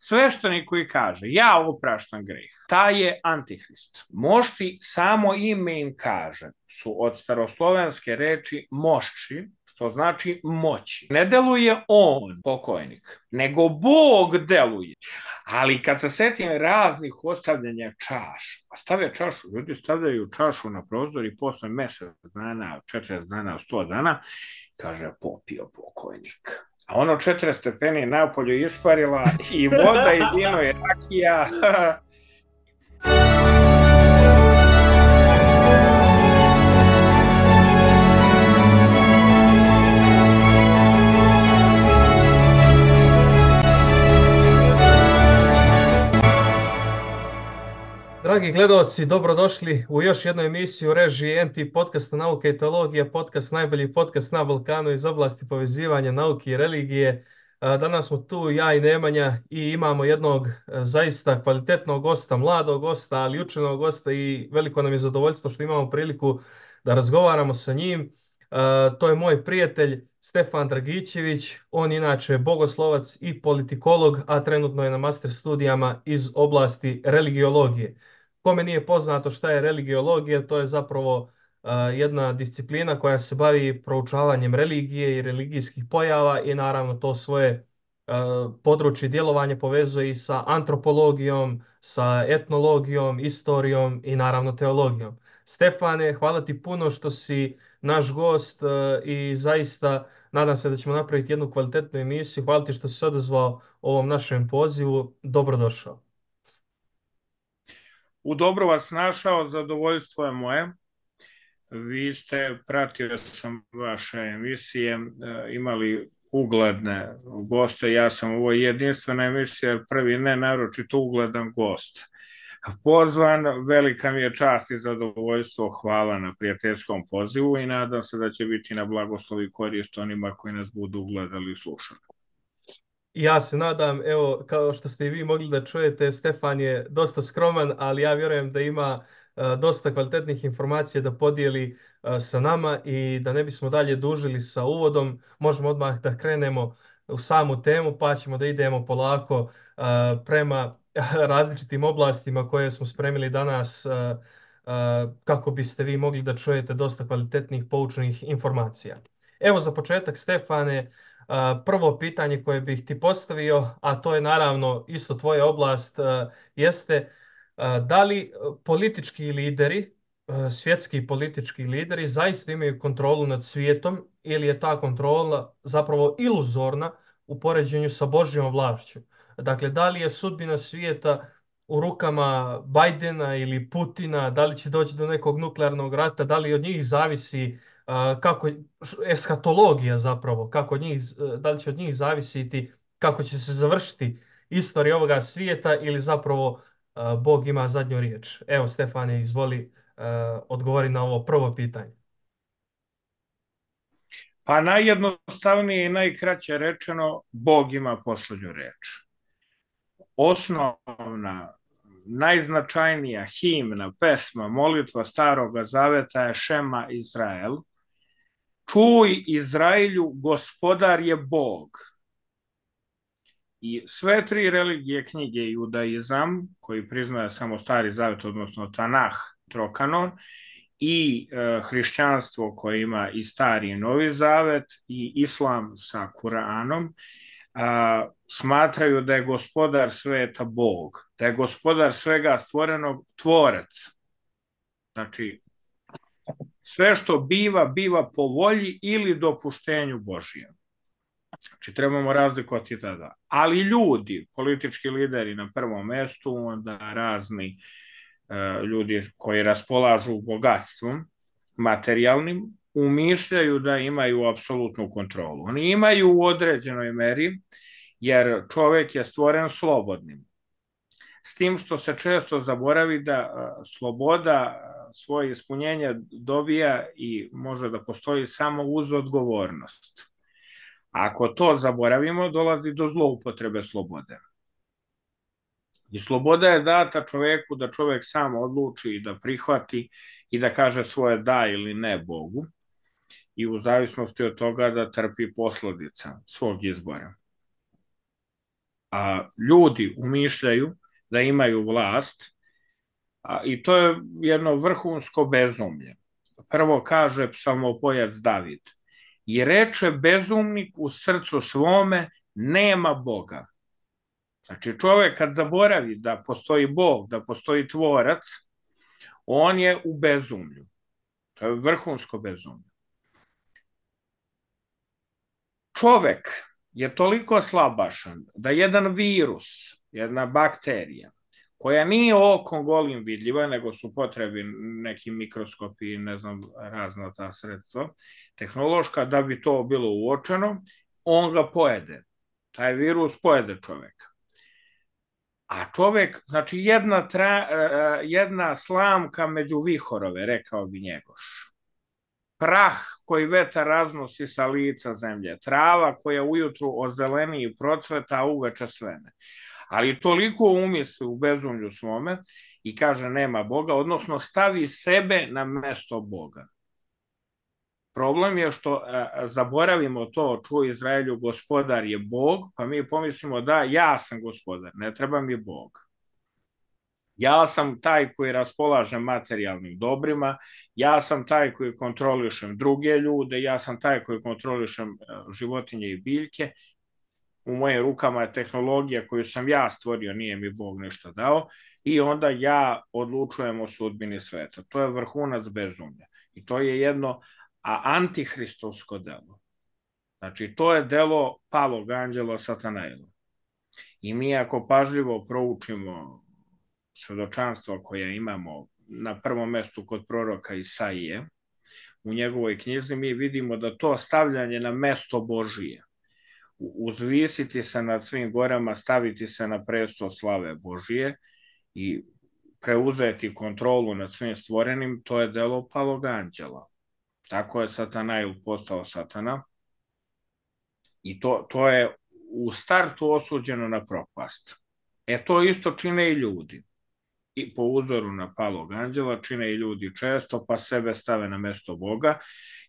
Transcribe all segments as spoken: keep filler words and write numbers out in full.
Sveštenik koji kaže, ja opraštam greh, taj je antihrist. Mošti, samo ime im kaže, su od staroslovenske reči mošči, što znači moći. Ne deluje on, pokojnik, nego Bog deluje. Ali kad se setim raznih ostavljanja čaša, stave čašu, ljudi stavljaju čašu na prozor i posle mesec dana, četrdeset dana, sto dana, kaže, popio pokojnik. A ono četiri stepeni napolju isparila i voda i vino i rakija. Dragi gledalci, dobrodošli u još jednu emisiju režije N T podcasta Nauka i teologija, podcast najbolji podcast na Balkanu iz oblasti povezivanja nauke i religije. Danas smo tu ja i Nemanja i imamo jednog zaista kvalitetnog gosta, mladog gosta, ali učenog gosta i veliko nam je zadovoljstvo što imamo priliku da razgovaramo sa njim. To je moj prijatelj Stefan Dragićević, on je inače bogoslovac i politikolog, a trenutno je na master studijama iz oblasti religiologije. Kome nije poznato šta je religiologija, to je zapravo uh, jedna disciplina koja se bavi proučavanjem religije i religijskih pojava i naravno to svoje uh, područje djelovanja povezuje i sa antropologijom, sa etnologijom, istorijom i naravno teologijom. Stefane, hvala ti puno što si naš gost uh, i zaista nadam se da ćemo napraviti jednu kvalitetnu emisiju. Hvala ti što si se odazvao ovom našem pozivu. Dobrodošao. U dobro vas našao, zadovoljstvo je moje. Vi ste, pratio sam vaše emisije, imali ugledne goste. Ja sam u ovoj jedinstvenoj emisiji prvi ne naročito ugledan gost. Pozvan, velika mi je čast i zadovoljstvo, hvala na prijateljskom pozivu i nadam se da će biti na blagoslov i korist onima koji nas budu gledali i slušali. Ja se nadam, evo, kao što ste i vi mogli da čujete, Stefan je dosta skroman, ali ja vjerujem da ima uh, dosta kvalitetnih informacija da podijeli uh, sa nama i da ne bismo dalje dužili sa uvodom, možemo odmah da krenemo u samu temu, pa ćemo da idemo polako uh, prema različitim oblastima koje smo spremili danas uh, uh, kako biste vi mogli da čujete dosta kvalitetnih poučenih informacija. Evo za početak, Stefane, prvo pitanje koje bih ti postavio, a to je naravno isto tvoja oblast, jeste da li politički lideri, svjetski politički lideri zaista imaju kontrolu nad svijetom ili je ta kontrola zapravo iluzorna u poređenju sa Božjom vlašću? Dakle, da li je sudbina svijeta u rukama Bajdena ili Putina, da li će doći do nekog nuklearnog rata, da li od njih zavisi kako eskatologija zapravo, kako od njih, da li će od njih zavisiti kako će se završiti istorija ovoga svijeta ili zapravo Bog ima zadnju riječ. Evo, Stefane, izvoli odgovori na ovo prvo pitanje. Pa najjednostavnije i najkraće rečeno, Bog ima poslednju reč. Osnovna, najznačajnija himna, pesma, molitva Staroga Zaveta je Šema Izrael. Čuj Izraelju, gospodar je Bog. I sve tri religije knjige, judaizam, koji priznaje samo Stari Zavet, odnosno Tanah, Trokanon, i e, hrišćanstvo koje ima i Stari i Novi Zavet, i islam sa Kuranom, a, smatraju da je gospodar sveta Bog, da je gospodar svega stvorenog tvorac. Znači, sve što biva, biva po volji ili dopuštenju Božijem. Znači, trebamo razlikovati tada. Ali ljudi, politički lideri na prvom mestu, onda razni uh, ljudi koji raspolažu bogatstvom materijalnim, umišljaju da imaju apsolutnu kontrolu. Oni imaju u određenoj meri, jer čovek je stvoren slobodnim. S tim što se često zaboravi da uh, sloboda svoje ispunjenje dobija i može da postoji samo uz odgovornost. Ako to zaboravimo, dolazi do zloupotrebe slobode. I sloboda je data čoveku da čovek sam odluči i da prihvati i da kaže svoje da ili ne Bogu i u zavisnosti od toga da trpi posledica svog izbora. A ljudi umišljaju da imaju vlast, a, i to je jedno vrhunsko bezumlje. Prvo kaže psalmopojac David, i reče bezumnik u srcu svome, nema Boga. Znači čovjek kad zaboravi da postoji Bog, da postoji tvorac, on je u bezumlju. To je vrhunsko bezumlje. Čovjek je toliko slabašan da jedan virus, jedna bakterija, koja nije okom golim vidljiva, nego su potrebi neki mikroskopi i ne znam, razna ta sredstva tehnološka, da bi to bilo uočeno, on ga pojede. Taj virus pojede čovjeka. A čovjek, znači jedna, tra, jedna slamka među vihorove, rekao bi Njegoš. Prah koji vetar raznosi sa lica zemlje, trava koja ujutru ozeleni i procveta, a uveče svene. Ali toliko umisli u bezumlju svome i kaže nema Boga, odnosno stavi sebe na mesto Boga. Problem je što a, zaboravimo to, čuo Izraelju, gospodar je Bog, pa mi pomislimo da ja sam gospodar, ne treba mi Bog. Ja sam taj koji raspolaže materijalnim dobrima, ja sam taj koji kontrolišem druge ljude, ja sam taj koji kontrolišem životinje i biljke, u mojim rukama je tehnologija koju sam ja stvorio, nije mi Bog ništa dao, i onda ja odlučujem o sudbini sveta. To je vrhunac bezumlja. I to je jedno a antihristovsko delo. Znači, to je delo palog anđela Satanaila. I mi ako pažljivo proučimo svedočanstvo koje imamo na prvom mestu kod proroka Isaije, u njegovoj knjizi mi vidimo da to stavljanje na mesto Božije, uzvisiti se nad svim gorama, staviti se na presto slave Božije i preuzeti kontrolu nad svim stvorenim, to je delo palog anđela. Tako je Satanail postao satana i to, to je u startu osuđeno na propast. E to isto čine i ljudi. I po uzoru na palog anđela čine i ljudi često, pa sebe stave na mesto Boga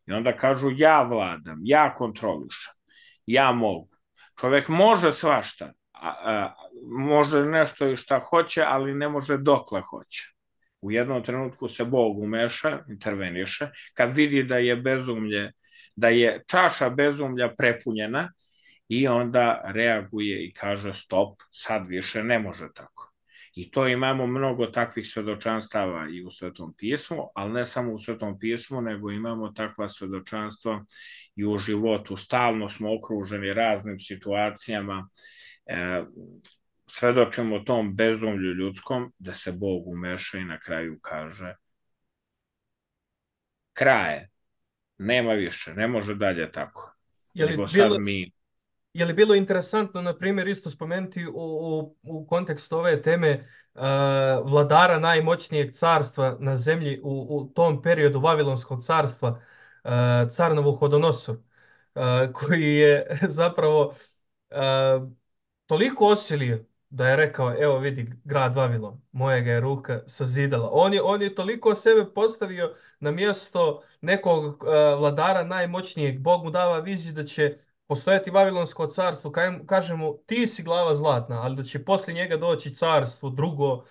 i onda kažu ja vladam, ja kontrolišem, ja mogu. Čovjek može svašta, a, a, može nešto i šta hoće, ali ne može dokle hoće. U jednom trenutku se Bog umeša, interveniše, kad vidi da je bezumlje, da je čaša bezumlja prepunjena i onda reaguje i kaže stop, sad više ne može tako. I to imamo mnogo takvih svedočanstava i u Svetom pismu, ali ne samo u Svetom pismu, nego imamo takva svedočanstva i u životu. Stalno smo okruženi raznim situacijama, e, svedočimo tom bezumlju ljudskom, da se Bog umeša i na kraju kaže kraje, nema više, ne može dalje tako. Je li nego bilo... sad mi... Je li bilo interesantno, na primjer, isto spomenuti u, u, u kontekstu ove teme uh, vladara najmoćnijeg carstva na zemlji u, u tom periodu Vavilonskog carstva, uh, car Navuhodonosor, uh, koji je zapravo uh, toliko osilio da je rekao, evo vidi grad Vavilon, mojega je ruka sazidala. On je, on je toliko sebe postavio na mjesto nekog uh, vladara najmoćnijeg. Bog mu dava viziju da će postojati Vavilonsko carstvo, kaže mu ti si glava zlatna, ali da će poslije njega doći carstvo drugo,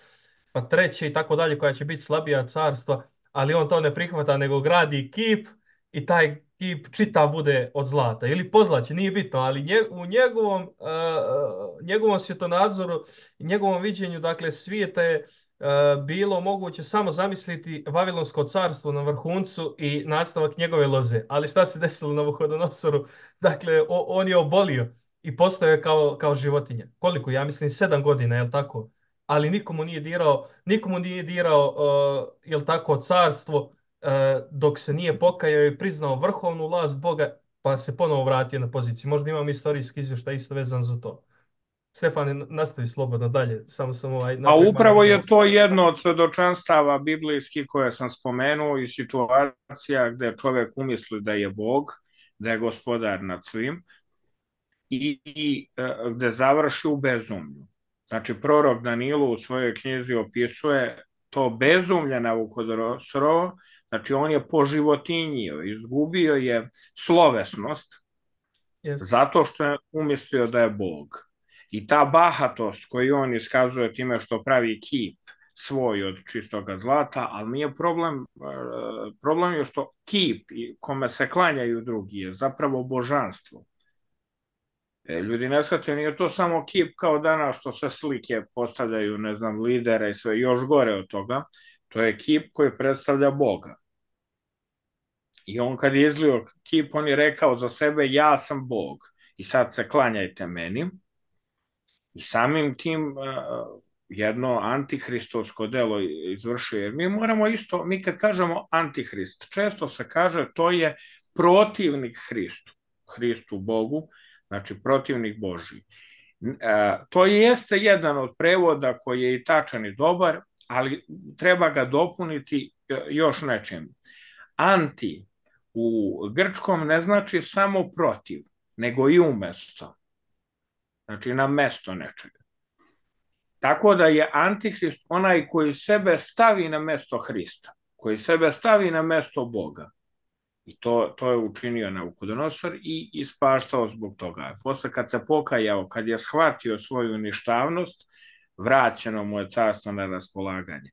pa treće i tako dalje, koja će biti slabija carstva, ali on to ne prihvata, nego gradi kip i taj kip čitav bude od zlata ili pozlaće, nije bitno, ali nje, u njegovom, uh, njegovom svjetonadzoru i njegovom viđenju, dakle, svijeta je uh, bilo moguće samo zamisliti Vavilonsko carstvo na vrhuncu i nastavak njegove loze. Ali šta se desilo na Navuhodonosoru? Dakle, o, on je obolio i postao je kao, kao životinja. Koliko? Ja mislim sedam godina, je li tako? Ali nikomu nije dirao, nikomu nije dirao, uh, je li tako, carstvo, uh, dok se nije pokajao i priznao vrhovnu vlast Boga, pa se ponovo vratio na poziciju. Možda imam istorijski izvještaj isto vezan za to. Stefane, nastavi slobodno dalje. Samo sam ovaj... A upravo je to jedno od svedočanstava biblijskih koje sam spomenuo i situacija gde čovjek umisli da je Bog, da je gospodar nad svim i, i gde završi u bezumlju. Znači, prorok Danilo u svojoj knjizi opisuje to bezumlje Navuhodonorovo, znači on je poživotinjio, izgubio je slovesnost yes. zato što je umislio da je Bog. I ta bahatost koju on iskazuje time što pravi kip svoj od čistoga zlata, ali nije problem, problem je što kip kome se klanjaju drugi je zapravo božanstvo. Ljudi ne shvataju, nije to samo kip kao danas što se slike postavljaju, ne znam, lidera i sve, još gore od toga, to je kip koji predstavlja Boga. I on kad je izlio kip, on je rekao za sebe, ja sam Bog i sad se klanjajte meni. I samim tim jedno antihristovsko delo izvršuje. Jer mi moramo isto, mi kad kažemo antihrist, često se kaže to je protivnik Hristu, Hristu Bogu, znači protivnik Božji. To jeste jedan od prevoda koji je i tačan i dobar, ali treba ga dopuniti još nečim. Anti u grčkom ne znači samo protiv, nego i umesto. Znači na mesto nečega. Tako da je antihrist onaj koji sebe stavi na mesto Hrista, koji sebe stavi na mesto Boga. I to, to je učinio Navukodonosor i ispaštao zbog toga. Posle kad se pokajao, kad je shvatio svoju ništavnost, vraćeno mu je carstvo na raspolaganje.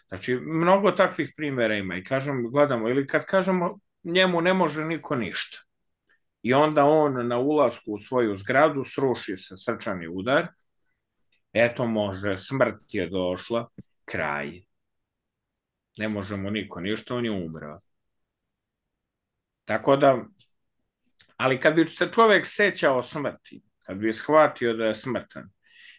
Znači, mnogo takvih primjera ima i kažem, gledamo, ili kad kažemo njemu ne može niko ništa. I onda on na ulasku u svoju zgradu sruši se srčani udar, eto može, smrt je došla, kraj. Ne može mu niko ništa, on je umreo. Tako da, ali kad bi se čovjek sećao smrti, kad bi shvatio da je smrtan,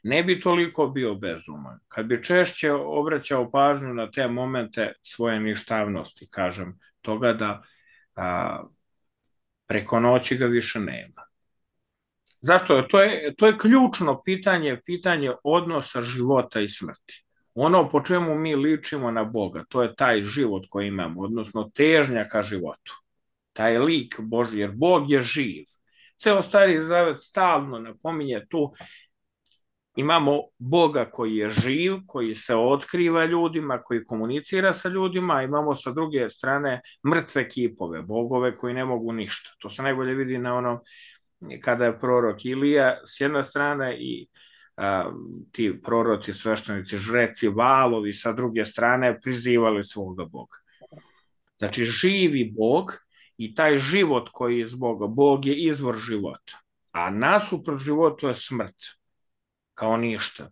ne bi toliko bio bezuman. Kad bi češće obraćao pažnju na te momente svoje ništavnosti, kažem, toga da a, preko noći ga više nema. Zašto? To je, to je ključno pitanje, pitanje odnosa života i smrti. Ono po čemu mi ličimo na Boga, to je taj život koji imamo, odnosno težnja ka životu. Taj lik Božji, jer Bog je živ. Ceo Stari Zavet stalno napominje tu, imamo Boga koji je živ, koji se otkriva ljudima, koji komunicira sa ljudima, a imamo sa druge strane mrtve kipove, bogove koji ne mogu ništa. To se najbolje vidi na ono kada je prorok Ilija s jedne strane i a, ti proroci, sveštenici, žreci, valovi sa druge strane prizivali svoga Boga. Znači živi Bog i taj život koji je iz Boga, Bog je izvor života, a nasuprot životu je smrt, kao ništa.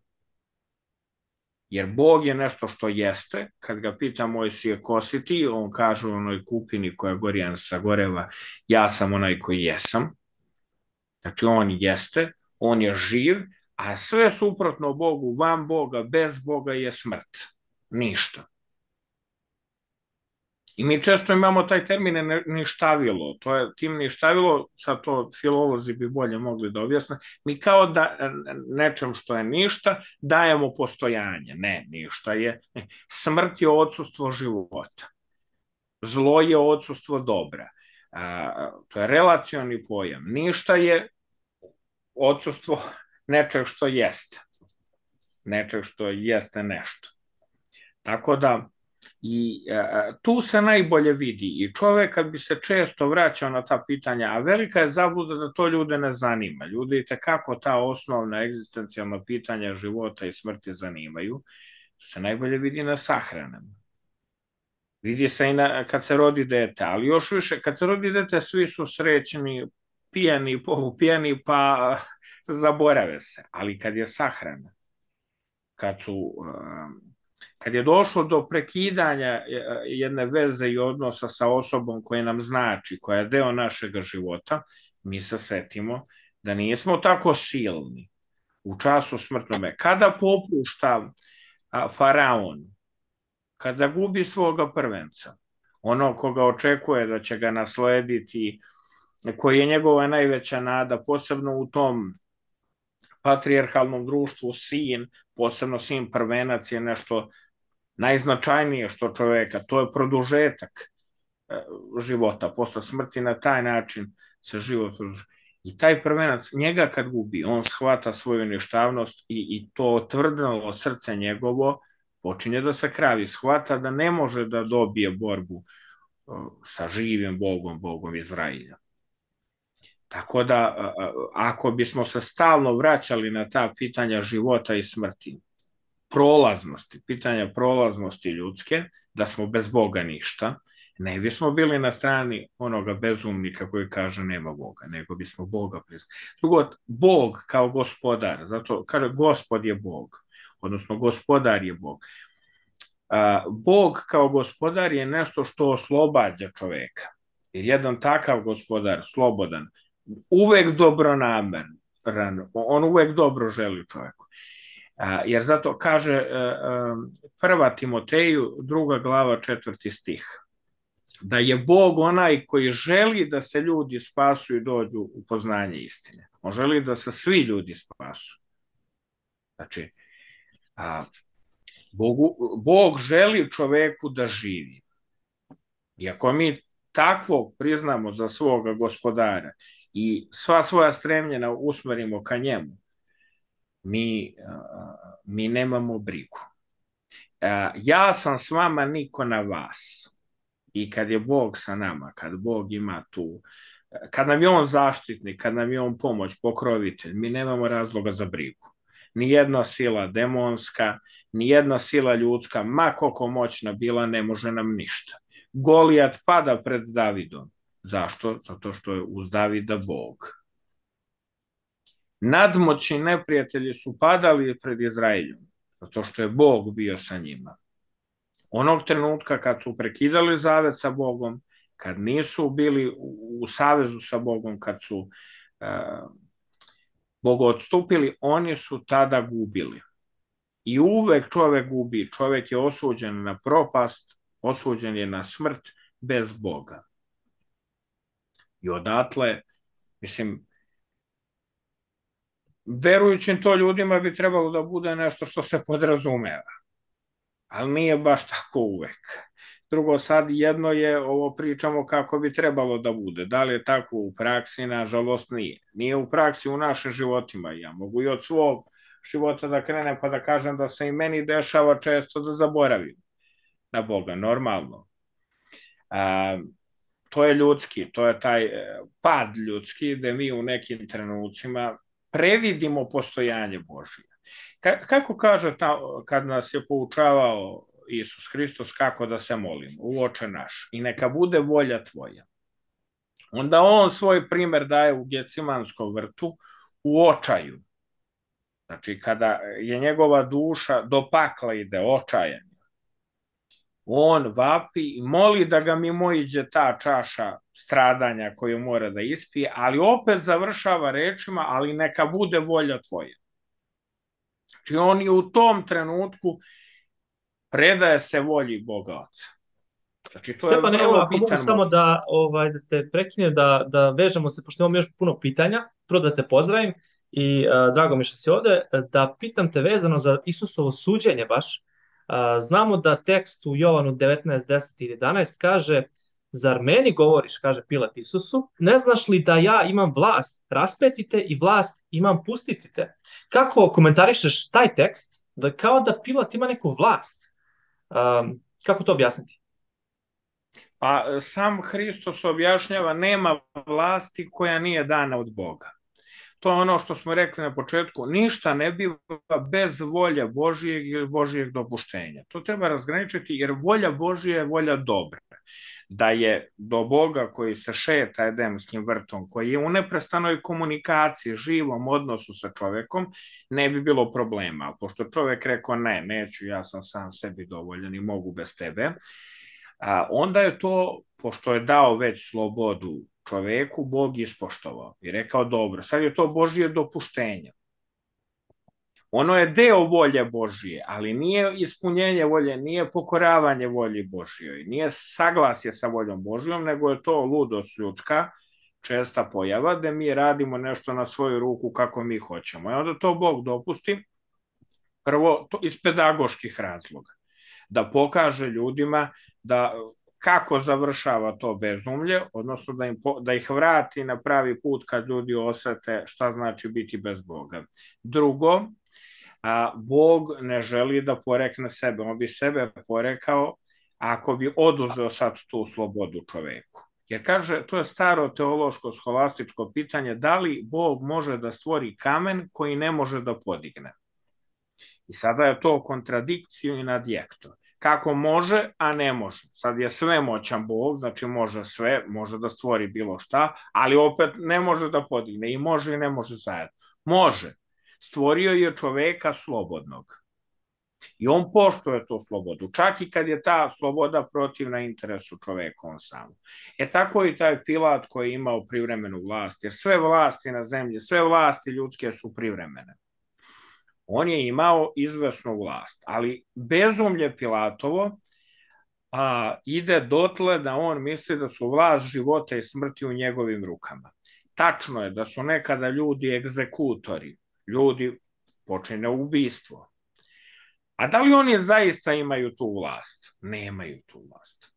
Jer Bog je nešto što jeste, kad ga pita Mojsije ko si ti, on kaže u onoj kupini koja Gorjan sagoreva, ja sam onaj koji jesam. Znači on jeste, on je živ, a sve suprotno Bogu, van Boga, bez Boga je smrt. Ništa. I mi često imamo taj termin ništavilo. To je tim ništavilo, sad to filolozi bi bolje mogli da objasne, mi kao da nečem što je ništa dajemo postojanje. Ne, ništa je. Smrt je odsustvo života. Zlo je odsustvo dobra. A, to je relacioni pojam. Ništa je odsustvo nečeg što jeste. Nečeg što jeste nešto. Tako da i e, tu se najbolje vidi i čovjek kad bi se često vraćao na ta pitanja, a velika je zabluda da to ljude ne zanima. Ljudi kako ta osnovna egzistencijalna pitanja života i smrti zanimaju, to se najbolje vidi na sahranama. Vidi se i na, kad se rodi dete, ali još više, kad se rodi dete svi su srećni, pijani, polupijani, pa zaborave se. Ali kad je sahrana, kad su... Kad je došlo do prekidanja jedne veze i odnosa sa osobom koja nam znači, koja je deo našeg života, mi se setimo da nismo tako silni u času smrtnome. Kada popušta faraon, kada gubi svoga prvenca, ono koga očekuje da će ga naslediti, koji je njegova najveća nada, posebno u tom patrijarhalnom društvu, sin, posebno sin prvenac je nešto najznačajnije što čoveka, to je produžetak života, posle smrti na taj način se život produžuje. I taj prvenac, njega kad gubi, on shvata svoju ništavnost i, i to tvrdnalo srce njegovo počinje da se kravi, shvata da ne može da dobije borbu sa živim Bogom, Bogom Izrailja. Tako da, ako bismo se stalno vraćali na ta pitanja života i smrti, prolaznosti, pitanja prolaznosti ljudske, da smo bez Boga ništa, ne bismo bili na strani onoga bezumnika koji kaže nema Boga, nego bismo Boga priznali. Drugo, Bog kao gospodar, zato kaže Gospod je Bog, odnosno gospodar je Bog. Bog kao gospodar je nešto što oslobađa čoveka. Jer jedan takav gospodar, slobodan, uvek dobronameran, on uvek dobro želi čoveku. Jer zato kaže prva Timoteju, druga glava, četvrti stih, da je Bog onaj koji želi da se ljudi spasu i dođu u poznanje istine. On želi da se svi ljudi spasu. Znači, Bogu, Bog želi čoveku da živi. I ako mi takvog priznamo za svoga gospodara i sva svoja stremljena usmerimo ka njemu, mi, mi nemamo brigu. Ja sam s vama, niko na vas. I kad je Bog sa nama, kad Bog ima tu, kad nam je on zaštitnik, kad nam je on pomoć, pokrovitelj, mi nemamo razloga za brigu. Nijedna sila demonska, nijedna sila ljudska, ma koliko moćna bila, ne može nam ništa. Golijat pada pred Davidom. Zašto? Zato što je uz Davida Bog. Nadmoćni neprijatelji su padali pred Izraeljom, zato što je Bog bio sa njima. Onog trenutka kad su prekidali zavet sa Bogom, kad nisu bili u savezu sa Bogom, kad su uh, Bogu odstupili, oni su tada gubili. I uvek čovek gubi, čovek je osuđen na propast, osuđen je na smrt bez Boga. I odatle, mislim, verujućim to ljudima bi trebalo da bude nešto što se podrazumeva. Ali nije baš tako uvek. Drugo, sad jedno je, ovo pričamo kako bi trebalo da bude. Da li je tako u praksi? Nažalost nije. Nije u praksi u našim životima. Ja mogu i od svog života da krenem pa da kažem da se i meni dešava često da zaboravim na Boga, normalno. A, to je ljudski, to je taj pad ljudski, gde mi u nekim trenucima previdimo postojanje Božije. Ka kako kaže ta, kad nas je poučavao Isus Hristos kako da se molimo, u Oče naš, i neka bude volja tvoja. Onda on svoj primer daje u Gecimanskom vrtu u očaju. Znači, kada je njegova duša do pakla ide, očajan, on vapi i moli da ga mimoiđe ta čaša stradanja koju mora da ispije, ali opet završava rečima, ali neka bude volja tvoja. Znači, on je u tom trenutku predaje se volji Boga Oca. Znači, to Stefan, je evo, vrlo ako bitan mogu samo da, ovaj, da te prekinem, da, da vežemo se, pošto imamo još puno pitanja, prvo da te pozdravim i uh, drago mi što si ovde, da pitam te vezano za Isusovo suđenje baš. Uh, znamo da tekst u Jovanu devetnaest, deset i jedanaest kaže: zar meni govoriš, kaže Pilat Isusu, ne znaš li da ja imam vlast raspeti te i vlast imam pustiti te? Kako komentarišeš taj tekst, da kao da Pilat ima neku vlast? Um, kako to objasniti? Pa sam Hristos objašnjava, nema vlasti koja nije dana od Boga. To je ono što smo rekli na početku, ništa ne biva bez volje Božijeg ili Božijeg dopuštenja. To treba razgraničiti, jer volja Božija je volja dobra. Da je do Boga koji se šeta Edemskim vrtom, koji je u neprestanoj komunikaciji, živom odnosu sa čovekom, ne bi bilo problema. Pošto čovek rekao ne, neću, ja sam sam sebi dovoljan i mogu bez tebe, a onda je to, pošto je dao već slobodu čoveku, Bog ispoštovao i rekao dobro, sad je to Božije dopuštenje. Ono je deo volje Božije, ali nije ispunjenje volje, nije pokoravanje volji Božijoj, nije saglasje sa voljom Božijom, nego je to ludost ljudska, česta pojava, da mi radimo nešto na svoju ruku kako mi hoćemo. I onda to Bog dopusti, prvo to iz pedagoških razloga, da pokaže ljudima da kako završava to bezumlje, odnosno da, im, da ih vrati na pravi put kad ljudi osete šta znači biti bez Boga. Drugo, a, Bog ne želi da porekne sebe, on bi sebe porekao ako bi oduzeo sad tu slobodu čoveku. Jer kaže, to je staro teološko scholastičko pitanje, da li Bog može da stvori kamen koji ne može da podigne. I sada je to kontradikciju i nadjekto. Kako može, a ne može. Sad je svemoćan Bog, znači može sve, može da stvori bilo šta, ali opet ne može da podigne. I može i ne može zajedno. Može. Stvorio je čoveka slobodnog. I on poštuje tu slobodu, čak i kad je ta sloboda protivna interesu čoveka on sam. E tako i taj Pilat koji je imao privremenu vlast, jer sve vlasti na zemlji, sve vlasti ljudske su privremene. On je imao izvesnu vlast, ali bezumlje Pilatovo a, ide dotle da on misli da su vlast života i smrti u njegovim rukama. Tačno je da su nekada ljudi egzekutori, ljudi počine ubistvo. A da li oni zaista imaju tu vlast? Nemaju tu vlast.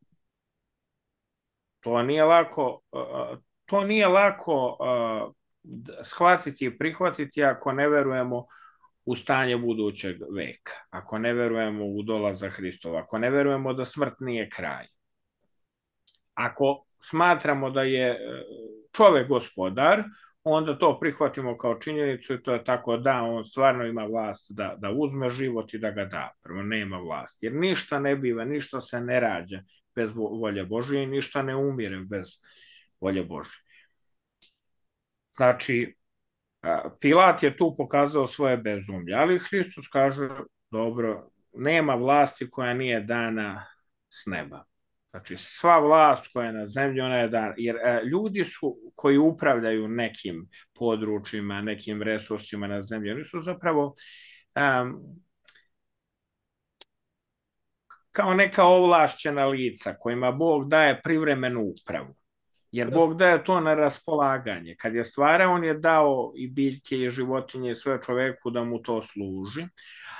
To nije lako, to nije lako shvatiti i prihvatiti ako ne verujemo u stanje budućeg veka, ako ne verujemo u dolazak Hristova, ako ne verujemo da smrt nije kraj. Ako smatramo da je čovek gospodar, onda to prihvatimo kao činjenicu i to je tako da on stvarno ima vlast da, da uzme život i da ga da. Prvo nema vlast, jer ništa ne biva, ništa se ne rađa bez volje Božije i ništa ne umire bez volje Božije. Znači, Pilat je tu pokazao svoje bezumlje, ali Hristos kaže, dobro, nema vlasti koja nije dana s neba. Znači, sva vlast koja je na zemlji, ona je dana. Jer e, ljudi su, koji upravljaju nekim područjima, nekim resursima na zemlji, oni su zapravo um, kao neka ovlašćena lica kojima Bog daje privremenu upravu. Jer Bog daje to na raspolaganje. Kad je stvarao, on je dao i biljke i životinje i sve čoveku da mu to služi,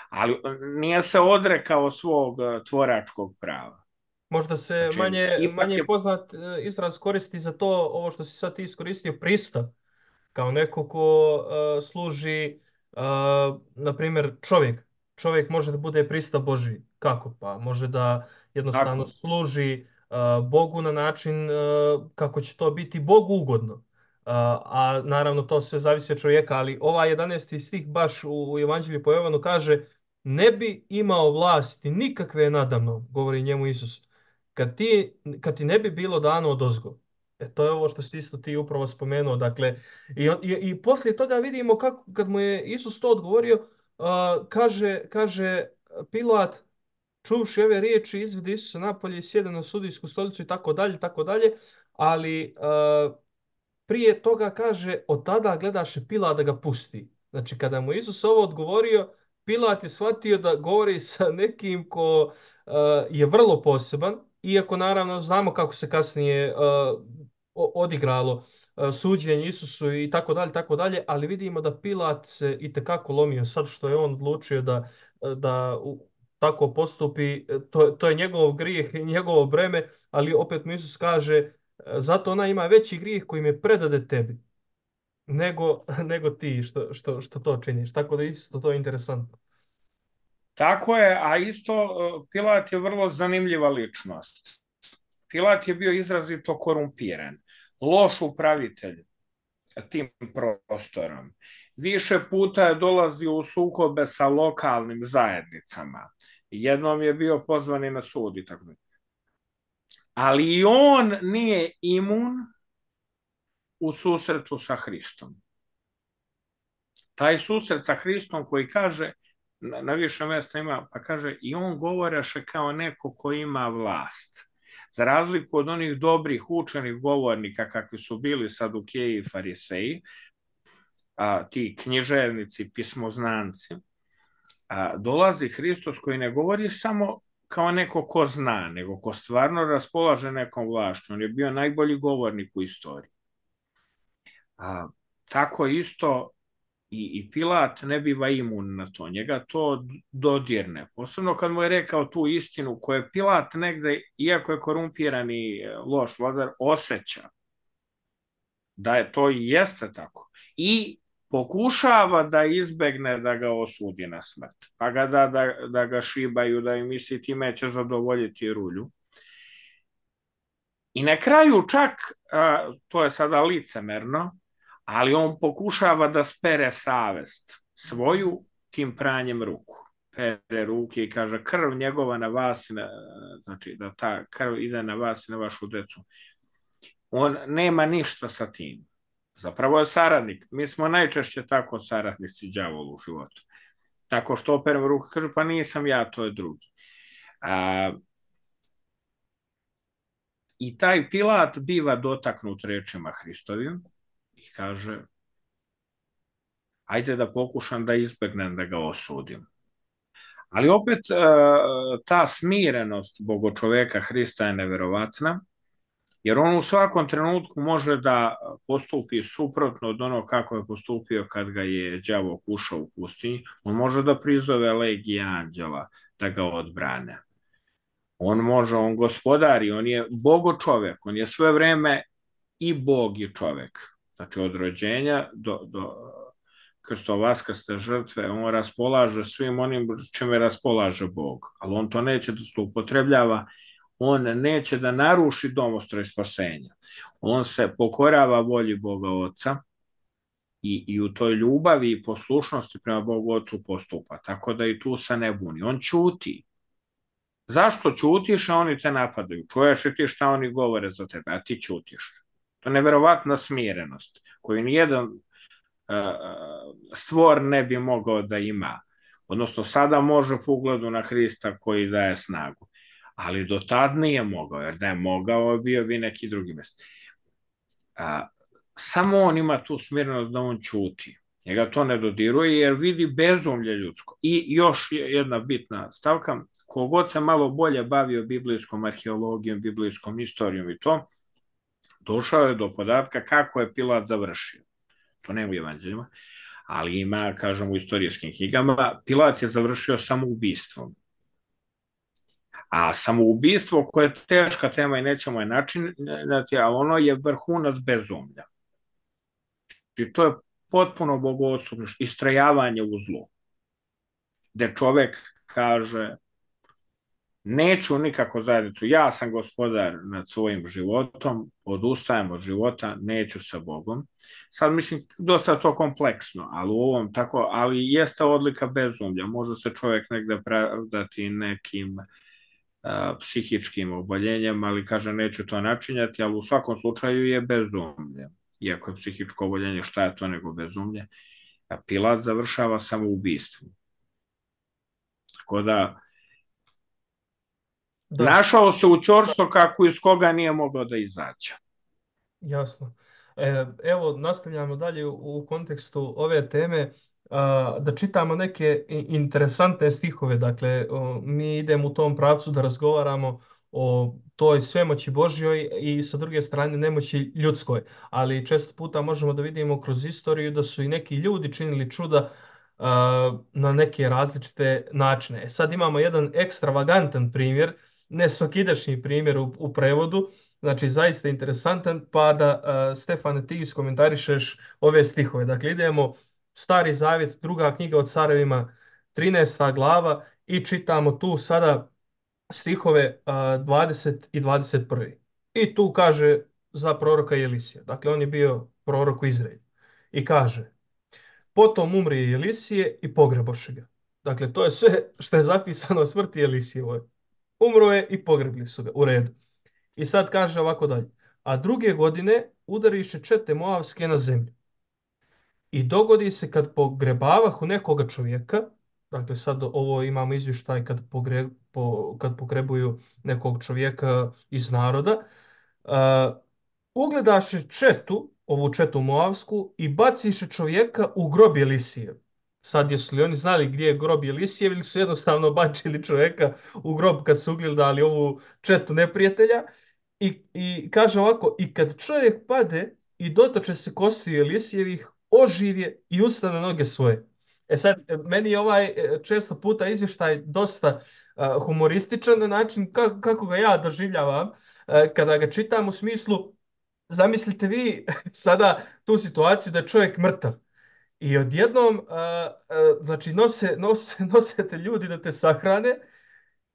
ali nije se odrekao svog tvoračkog prava. Možda se znači, manje, manje je... poznat izraz koristi za to, ovo što si sad ti iskoristio, pristav, kao neko ko uh, služi, uh, na primjer, čovjek. Čovjek može da bude pristav Božji. Kako? Pa može da jednostavno Tako. služi uh, Bogu na način uh, kako će to biti Bogu ugodno. Uh, a naravno to sve zavisi od čovjeka, ali ova jedanaesti stih baš u, u Evanđelju po Jovanu kaže ne bi imao vlasti nikakve nadamno, govori njemu Isus, kad ti, kad ti ne bi bilo dano odozgo. E, to je ovo što si isto ti upravo spomenuo. Dakle, i, i, i poslije toga vidimo kako, kad mu je Isus to odgovorio, uh, kaže, kaže Pilat, čuvši ove riječi, izvede Isusa napolje i sjede na sudijsku stolicu i tako dalje, tako dalje, ali uh, prije toga kaže, od tada gledaše Pilat da ga pusti. Znači, kada mu Isus ovo odgovorio, Pilat je shvatio da govori sa nekim ko uh, je vrlo poseban, iako naravno znamo kako se kasnije uh, odigralo uh, suđenje Isusu i tako dalje, tako dalje, ali vidimo da Pilat se itekako lomio sad što je on odlučio da, da uh, tako postupi, to, to je njegov grijeh i njegovo breme, ali opet mu Isus kaže, zato ona ima veći grijeh koji me predade tebi, nego, nego ti što, što, što to činiš. Tako da isto to je interesantno. Tako je, a isto Pilat je vrlo zanimljiva ličnost. Pilat je bio izrazito korumpiran, loš upravitelj tim prostorom. Više puta je dolazio u sukobe sa lokalnim zajednicama. Jednom je bio pozvan i na sud i tako. Ali i on nije imun u susretu sa Hristom. Taj susret sa Hristom koji kaže, na, na više mjesta ima, pa kaže, i on govoreše kao neko ko ima vlast. Za razliku od onih dobrih učenih govornika kakvi su bili Sadukeji i Fariseji, a, ti književnici, pismoznanci, a, dolazi Hristos koji ne govori samo kao neko ko zna, nego ko stvarno raspolaže nekom vlašću. On je bio najbolji govornik u istoriji. A, tako isto i, i Pilat ne biva imun na to. Njega to dodirne. Posebno kad mu je rekao tu istinu koju je Pilat negde, iako je korumpiran i loš vladar, osjeća. Da je to i jeste tako. I pokušava da izbegne da ga osudi na smrt. Pa ga da, da, da ga šibaju, da im misli time će zadovoljiti rulju. I na kraju čak, a, to je sada licemerno, ali on pokušava da spere savest svoju tim pranjem ruku. Pere ruke i kaže krv njegova na vas, na, znači da ta krv ide na vas i na vašu decu. On nema ništa sa tim. Zapravo je saradnik. Mi smo najčešće tako saradnici đavolu u životu. Tako što operem ruku, kaže pa nisam ja, to je drugi. A, I taj Pilat biva dotaknut rečima Hristovim i kaže ajde da pokušam da izbegnem da ga osudim. Ali opet ta smirenost bogočoveka Hrista je neverovatna, jer on u svakom trenutku može da postupi suprotno od ono kako je postupio kad ga je đavo kušao u pustinji. On može da prizove legije anđela da ga odbrane. On može, on gospodari, on je bogočovek, on je sve vreme i bog i čovek. Znači od rođenja do, do krstovaskaste žrtve, on raspolaže svim onim čime raspolaže Bog, ali on to neće da se upotrebljava, on neće da naruši domostroj spasenja. On se pokorava volji Boga Oca i, i u toj ljubavi i poslušnosti prema Bogu Ocu postupa, tako da i tu se ne buni. On ćuti. Zašto ćutiš, a oni te napadaju? Čuješ li ti šta oni govore za tebe, a ti ćutiš? To je neverovatna smirenost, koju nijedan stvor ne bi mogao da ima. Odnosno, sada može po ugledu na Hrista koji daje snagu. Ali do tad nije mogao, jer da je mogao, bio bi neki drugi mjest. Samo on ima tu smirenost da on ćuti. Njega to ne dodiruje jer vidi bezumlje ljudsko. I još jedna bitna stavka, kogod se malo bolje bavio biblijskom arheologijom, biblijskom istorijom i to, došao je do podatka kako je Pilat završio. To nema u evanđeljima, ali ima, kažem, u istorijskim knjigama, Pilat je završio samoubistvom. A samoubistvo koje je teška tema i nećemo je načinati, ali ono je vrhunac bezumlja. I to je potpuno bogosluvno, istrajavanje u zlu. Gde čovek kaže, neću nikako zajednicu, ja sam gospodar nad svojim životom, odustajem od života, neću sa Bogom. Sad mislim, dosta to kompleksno, ali u ovom tako, ali jeste odlika bezumlja. Može se čovjek negde pravdati nekim a, psihičkim oboljenjem, ali kaže neću to načinjati, ali u svakom slučaju je bezumlje. Iako je psihičko oboljenje, šta je to nego bezumlje? A Pilat završava samoubistvom. Tako da, Da. Našao se u ćorstvo kako iz koga nije mogao da izađe. Jasno. E, evo, nastavljamo dalje u, u kontekstu ove teme a, da čitamo neke interesantne stihove. Dakle, o, mi idemo u tom pravcu da razgovaramo o toj svemoći Božjoj i sa druge strane nemoći ljudskoj. Ali često puta možemo da vidimo kroz istoriju da su i neki ljudi činili čuda a, na neke različite načine. Sad imamo jedan ekstravagantan primjer, ne svakidašnji primjer u, u prevodu, znači zaista interesantan, pa da uh, Stefane ti iskomentarišeš ove stihove. Dakle, idemo Stari Zavjet, druga knjiga o carevima, trinaesta glava i čitamo tu sada stihove uh, dvadeset i dvadeset prvi. I tu kaže za proroka Jelisija. Dakle, on je bio prorok u Izraelu. I kaže, potom umri Jelisije i pogreboše ga. Dakle, to je sve što je zapisano o smrti Jelisijevoj. Umro je i pogrebli su ga, u redu. I sad kaže ovako dalje. A druge godine udariše čete Moavske na zemlju. I dogodi se kad pogrebavahu nekoga čovjeka, dakle sad ovo imamo izvještaj kad, pogre, po, kad pogrebuju nekog čovjeka iz naroda, uh, ugledaše četu, ovu četu Moavsku, i baciše čovjeka u grob Jelisijev. Sad jesu li oni znali gdje je grob Jelisijev ili su jednostavno bacili čovjeka u grob kad su ugledali ovu četu neprijatelja. I, I kaže ovako, i kad čovjek pade i dotoče se kostiju Jelisijevih, oživje i ustane noge svoje. E sad, meni je ovaj često puta izvještaj dosta uh, humorističan na način kako, kako ga ja doživljavam uh, kada ga čitam u smislu, zamislite vi sada tu situaciju da je čovjek mrtav. I odjednom, uh, uh, znači, nose, nose, nosete ljudi da te sahrane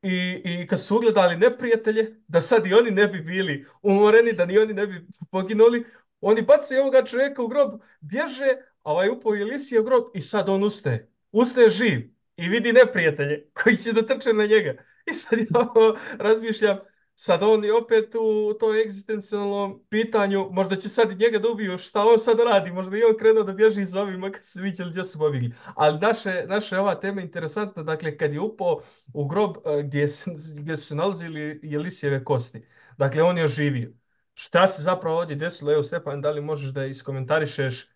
i, i kad su ugledali neprijatelje, da sad i oni ne bi bili umoreni, da ni oni ne bi poginuli, oni bacaju ovoga čovjeka u grob, bježe, a ovaj upao Elisija u grob i sad on ustaje. Ustaje živ i vidi neprijatelje koji će da trče na njega. I sad ja ovo razmišljam, sad on je opet u toj egzistencijalnom pitanju, možda će sad i njega da ubiju, šta on sad radi, možda i on krenuo da bježi za ovima kad se vidjeli gdje su pobjegli. Ali naše, naša je ova tema interesantna, dakle kad je upao u grob eh, gdje, se, gdje su se nalazili Jelisijeve kosti, dakle on je oživio. Šta se zapravo ovdje desilo? Evo Stefan, da li možeš da iskomentarišeš eh,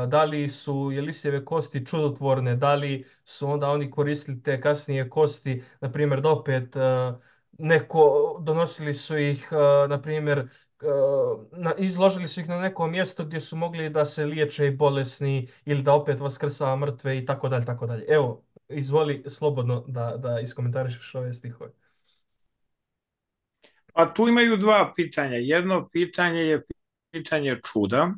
da li su Jelisijeve kosti čudotvorne, da li su onda oni koristili te kasnije kosti, na primjer da opet eh, neko, donosili su ih, uh, na primjer, uh, na, izložili su ih na neko mjesto gdje su mogli da se liječe i bolesni ili da opet vaskrsava mrtve i tako dalje, tako dalje. Evo, izvoli slobodno da, da iskomentarišeš ove stihove. Pa tu imaju dva pitanja. Jedno pitanje je pitanje čuda,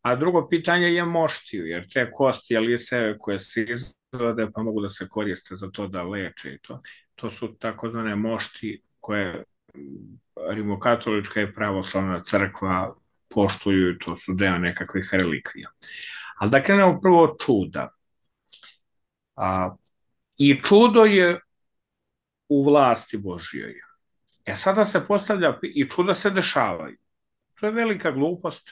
a drugo pitanje je moštiju, jer te kosti Elisejeve koje se izvode pa mogu da se koriste za to da leče i to. To su takozvane mošti koje rimokatolička i pravoslavna crkva poštuju, to su deo nekakvih relikvija. Ali da krenemo prvo od čuda. A, I čudo je u vlasti Božjoj. E sada se postavlja, i čuda se dešavaju. To je velika glupost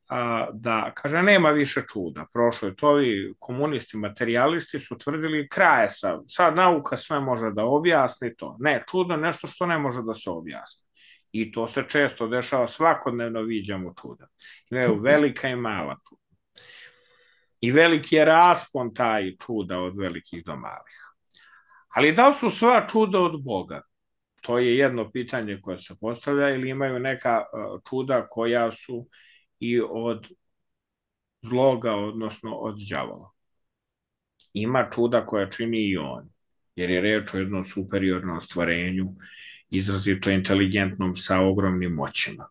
a, da, kaže, nema više čuda. Prošlo je to, ovi komunisti, materijalisti su tvrdili kraje sa, sad nauka sve može da objasni to. Ne, čudo je nešto što ne može da se objasni. I to se često dešava, svakodnevno viđamo čuda. Imaju velika i mala čuda. I veliki je raspon taj čuda od velikih do malih. Ali da li su sva čuda od Boga? To je jedno pitanje koje se postavlja, ili imaju neka čuda koja su i od zloga, odnosno od đavola. Ima čuda koja čini i on, jer je reč o jednom superiornom stvorenju, izrazito inteligentnom sa ogromnim moćima.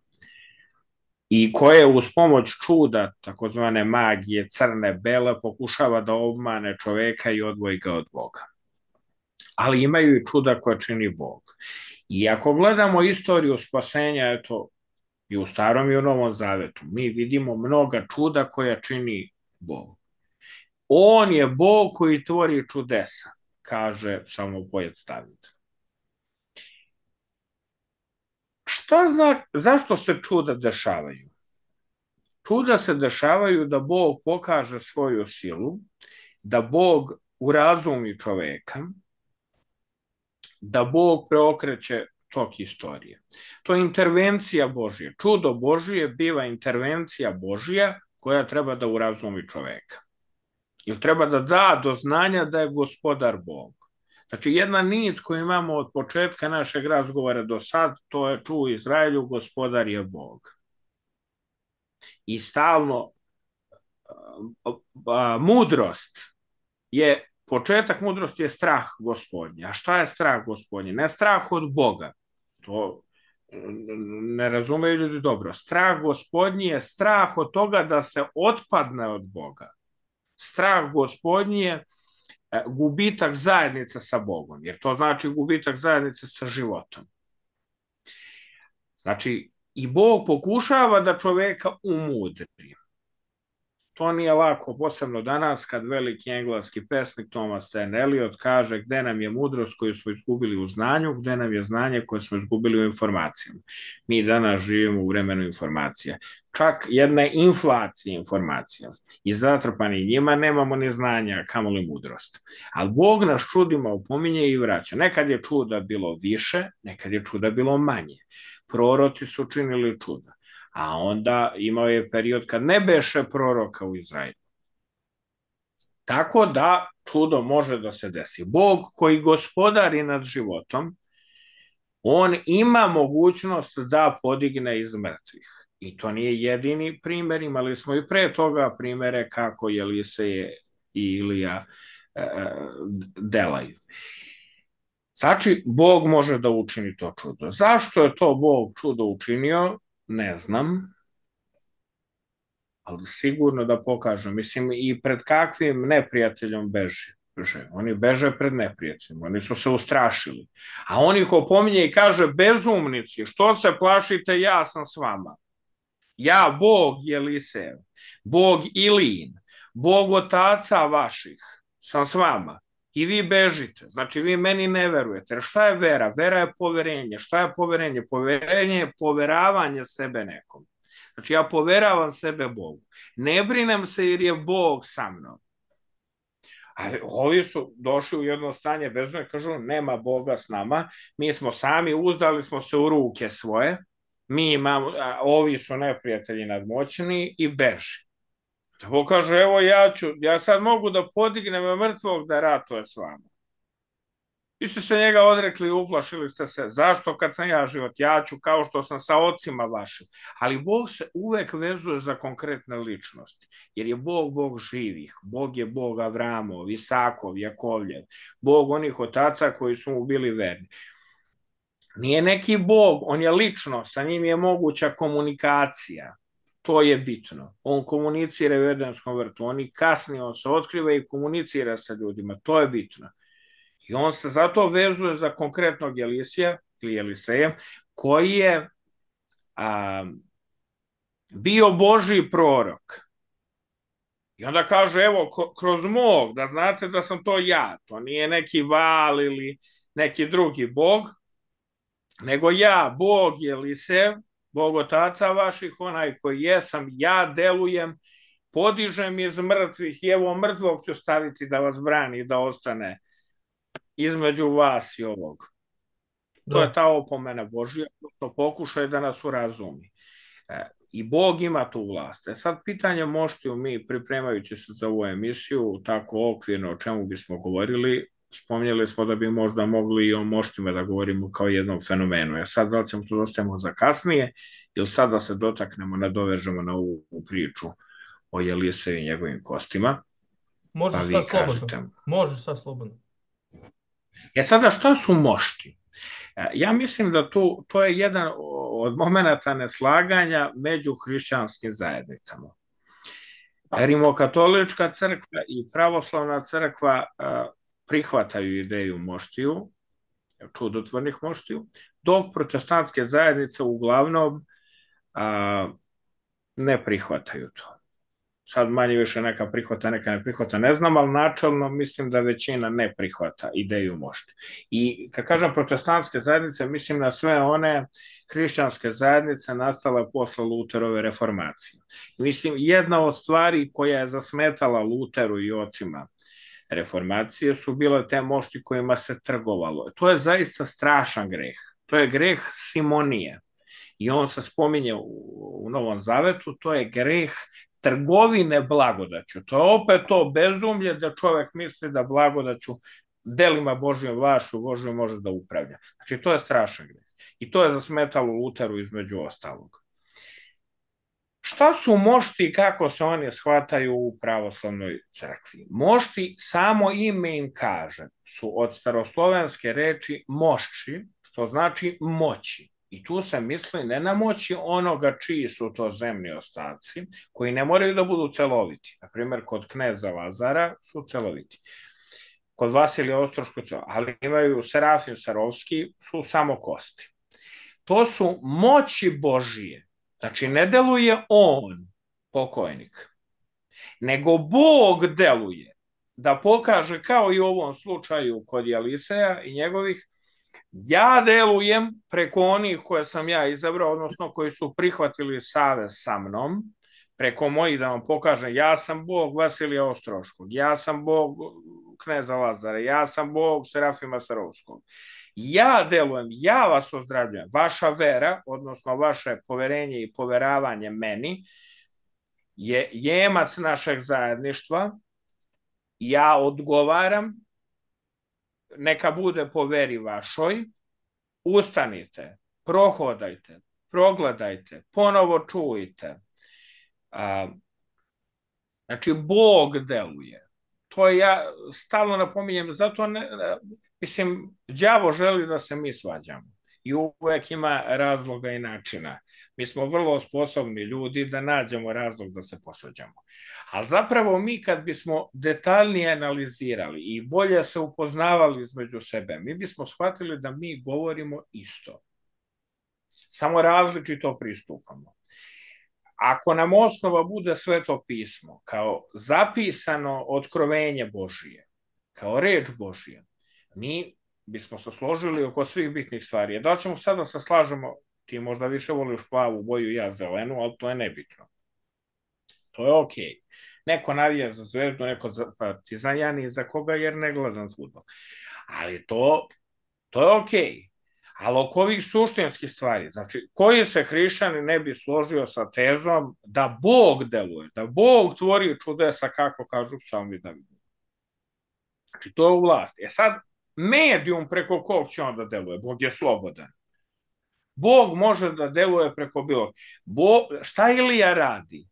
I koje uz pomoć čuda, takozvane magije, crne, bele, pokušava da obmane čoveka i odvoji ga od Boga. Ali imaju i čuda koja čini Bog. I ako gledamo istoriju spasenja, eto, i u Starom i u Novom Zavetu, mi vidimo mnoga čuda koja čini Bog. On je Bog koji tvori čudesa, kaže psalmopojac David. Šta zna, zašto se čuda dešavaju? Čuda se dešavaju da Bog pokaže svoju silu, da Bog urazumi čoveka, da Bog preokreće tok istorije. To je intervencija Božja. Čudo Božije biva intervencija Božja koja treba da urazumi čoveka. Ili treba da da do znanja da je gospodar Bog. Znači, jedna nit koju imamo od početka našeg razgovora do sad, to je čuo Izraelju, gospodar je Bog. I stalno a, a, mudrost je, početak mudrosti je strah gospodnji. A šta je strah gospodnji? Ne strah od Boga. To ne razumeju ljudi dobro. Strah gospodnji je strah od toga da se otpadne od Boga. Strah gospodnji je gubitak zajednice sa Bogom, jer to znači gubitak zajednice sa životom. Znači, i Bog pokušava da čoveka umudri. To nije lako, posebno danas, kad veliki engleski pesnik Thomas Stearns Eliot kaže gde nam je mudrost koju smo izgubili u znanju, gde nam je znanje koje smo izgubili u informacijama. Mi danas živimo u vremenu informacija. Čak jedna inflacija informacija. I zatrpani njima nemamo ni znanja, kamoli mudrost. Ali Bog nas čudima opominje i vraća. Nekad je čuda bilo više, nekad je čuda bilo manje. Proroci su činili čuda. A onda imao je period kad ne beše proroka u Izraelu. Tako da čudo može da se desi. Bog koji gospodari nad životom, on ima mogućnost da podigne iz mrtvih. I to nije jedini primjer, imali smo i pre toga primere kako Eliseje i Ilija e, delaju. Znači, Bog može da učini to čudo. Zašto je to Bog čudo učinio? Ne znam, ali sigurno da pokažem. Mislim, i pred kakvim neprijateljom beži. beže. Oni beže pred neprijateljima, oni su se ustrašili. A on ih opominje i kaže, bezumnici, što se plašite, ja sam s vama. Ja, Bog Jelisev, Bog Ilin, Bog otaca vaših, sam s vama. I vi bežite. Znači, vi meni ne verujete. Jer šta je vera? Vera je poverenje. Šta je poverenje? Poverenje je poveravanje sebe nekom. Znači, ja poveravam sebe Bogu. Ne brinem se jer je Bog sa mnom. A ovi su došli u jedno stanje bezumlja i kažu, nema Boga s nama, mi smo sami, uzdali smo se u ruke svoje, mi imamo, a ovi su neprijatelji nadmoćni i beži. Tako kaže, evo ja ću, ja sad mogu da podignem mrtvog da ratuje s vama. Vi ste se njega odrekli, uplašili ste se. Zašto kad sam ja život? Ja ću kao što sam sa ocima vašim. Ali Bog se uvek vezuje za konkretne ličnosti. Jer je Bog Bog živih. Bog je Bog Avramov, Isakov, Jakovljev. Bog onih otaca koji su mu bili verni. Nije neki Bog, on je lično, sa njim je moguća komunikacija. To je bitno. On komunicira u Edenskom vrtu. On i kasnije, on se otkriva i komunicira sa ljudima. To je bitno. I on se zato vezuje za konkretnog Elisija, ili Eliseja, koji je a, bio Božji prorok. I onda kaže, evo, kroz mog, da znate da sam to ja. To nije neki Val ili neki drugi Bog, nego ja, Bog Elisev, Bog otaca vaših, onaj koji jesam, ja delujem, podižem iz mrtvih i evo mrtvog ću staviti da vas brani, da ostane između vas i ovog. To da. je ta opomena Božja, odnosno pokušaj da nas urazumi. E, I Bog ima tu vlast. E sad pitanje moštiju mi, pripremajući se za ovu emisiju, tako okvirno o čemu bismo govorili, spomnjeli smo da bi možda mogli i o moštima da govorimo kao jednom fenomenu. E sad da li ćemo to dostavimo za kasnije, ili sad da se dotaknemo, nadovežemo na ovu priču o Eliseju i njegovim kostima. Možeš sad slobodno. Možeš sad slobodno. E sada, šta su mošti? Ja mislim da tu, to je jedan od momenata neslaganja među hrišćanskim zajednicama. Rimokatolička crkva i pravoslavna crkva prihvataju ideju moštiju, čudotvornih moštiju, dok protestantske zajednice uglavnom ne prihvataju to. Sad manje više neka prihvata, neka ne prihvata, ne znam, ali načelno mislim da većina ne prihvata ideju mošti. I kad kažem protestantske zajednice, mislim na sve one hrišćanske zajednice nastale posle Luterove reformacije. Mislim, jedna od stvari koja je zasmetala Luteru i ocima reformacije su bile te mošti kojima se trgovalo. To je zaista strašan greh. To je greh Simonije. I on se spominje u, u Novom Zavetu, to je greh trgovine blagodaću. To je opet to bezumlje da čovek misli da blagodaću delima Božjom vlašću Božjom može da upravlja. Znači, to je strašan greh. I to je zasmetalo Luteru između ostalog. Šta su mošti i kako se oni shvataju u pravoslavnoj crkvi? Mošti, samo ime im kaže, su od staroslovenske reči mošči, što znači moći. I tu se misli ne na moći onoga čiji su to zemni ostaci, koji ne moraju da budu celoviti. Naprimjer, kod kneza Lazara su celoviti. Kod Vasilija Ostroškog, ali imaju Serafim Sarovski, su samo kosti. To su moći Božije. Znači, ne deluje on, pokojnik, nego Bog deluje da pokaže, kao i u ovom slučaju kod Eliseja i njegovih, ja delujem preko onih koje sam ja izabrao, odnosno koji su prihvatili savez sa mnom, preko mojih da vam pokažem, ja sam Bog Vasilija Ostroškog, ja sam Bog kneza Lazara, ja sam Bog Serafima Sarovskog. Ja delujem, ja vas ozdravljujem. Vaša vera, odnosno vaše poverenje i poveravanje meni je jemac našeg zajedništva. Ja odgovaram, neka bude po veri vašoj, ustanite, prohodajte, progledajte, ponovo čujte. A, znači, Bog deluje. To ja stalno napominjem, zato ne, mislim, đavo želi da se mi svađamo. i uvek ima razloga i načina. Mi smo vrlo sposobni ljudi da nađemo razlog da se posvađamo. Ali zapravo mi kad bismo detaljnije analizirali i bolje se upoznavali između sebe, mi bismo shvatili da mi govorimo isto. Samo različito pristupamo. Ako nam osnova bude Sveto pismo, kao zapisano otkrovenje Božije, kao reč Božija, mi bismo se složili oko svih bitnih stvari. Da li ćemo sada se slažemo, ti možda više voliš plavu boju, ja zelenu, ali to je nebitno. To je okej. Okay. Neko navija za Zvezdu, neko za Partizan, ja ni za koga jer ne gledam fudbal. Ali to, to je okej. Okay. Ali oko ovih suštinskih stvari, znači, koji se hrišćanin ne bi složio sa tezom da Bog deluje, da Bog tvori čudesa, kako kažu psalmi Davida. Znači, to je u vlasti. E sad, medijum preko kog će on da deluje? Bog je slobodan. Bog može da deluje preko bilo. Bog, šta Ilija radi?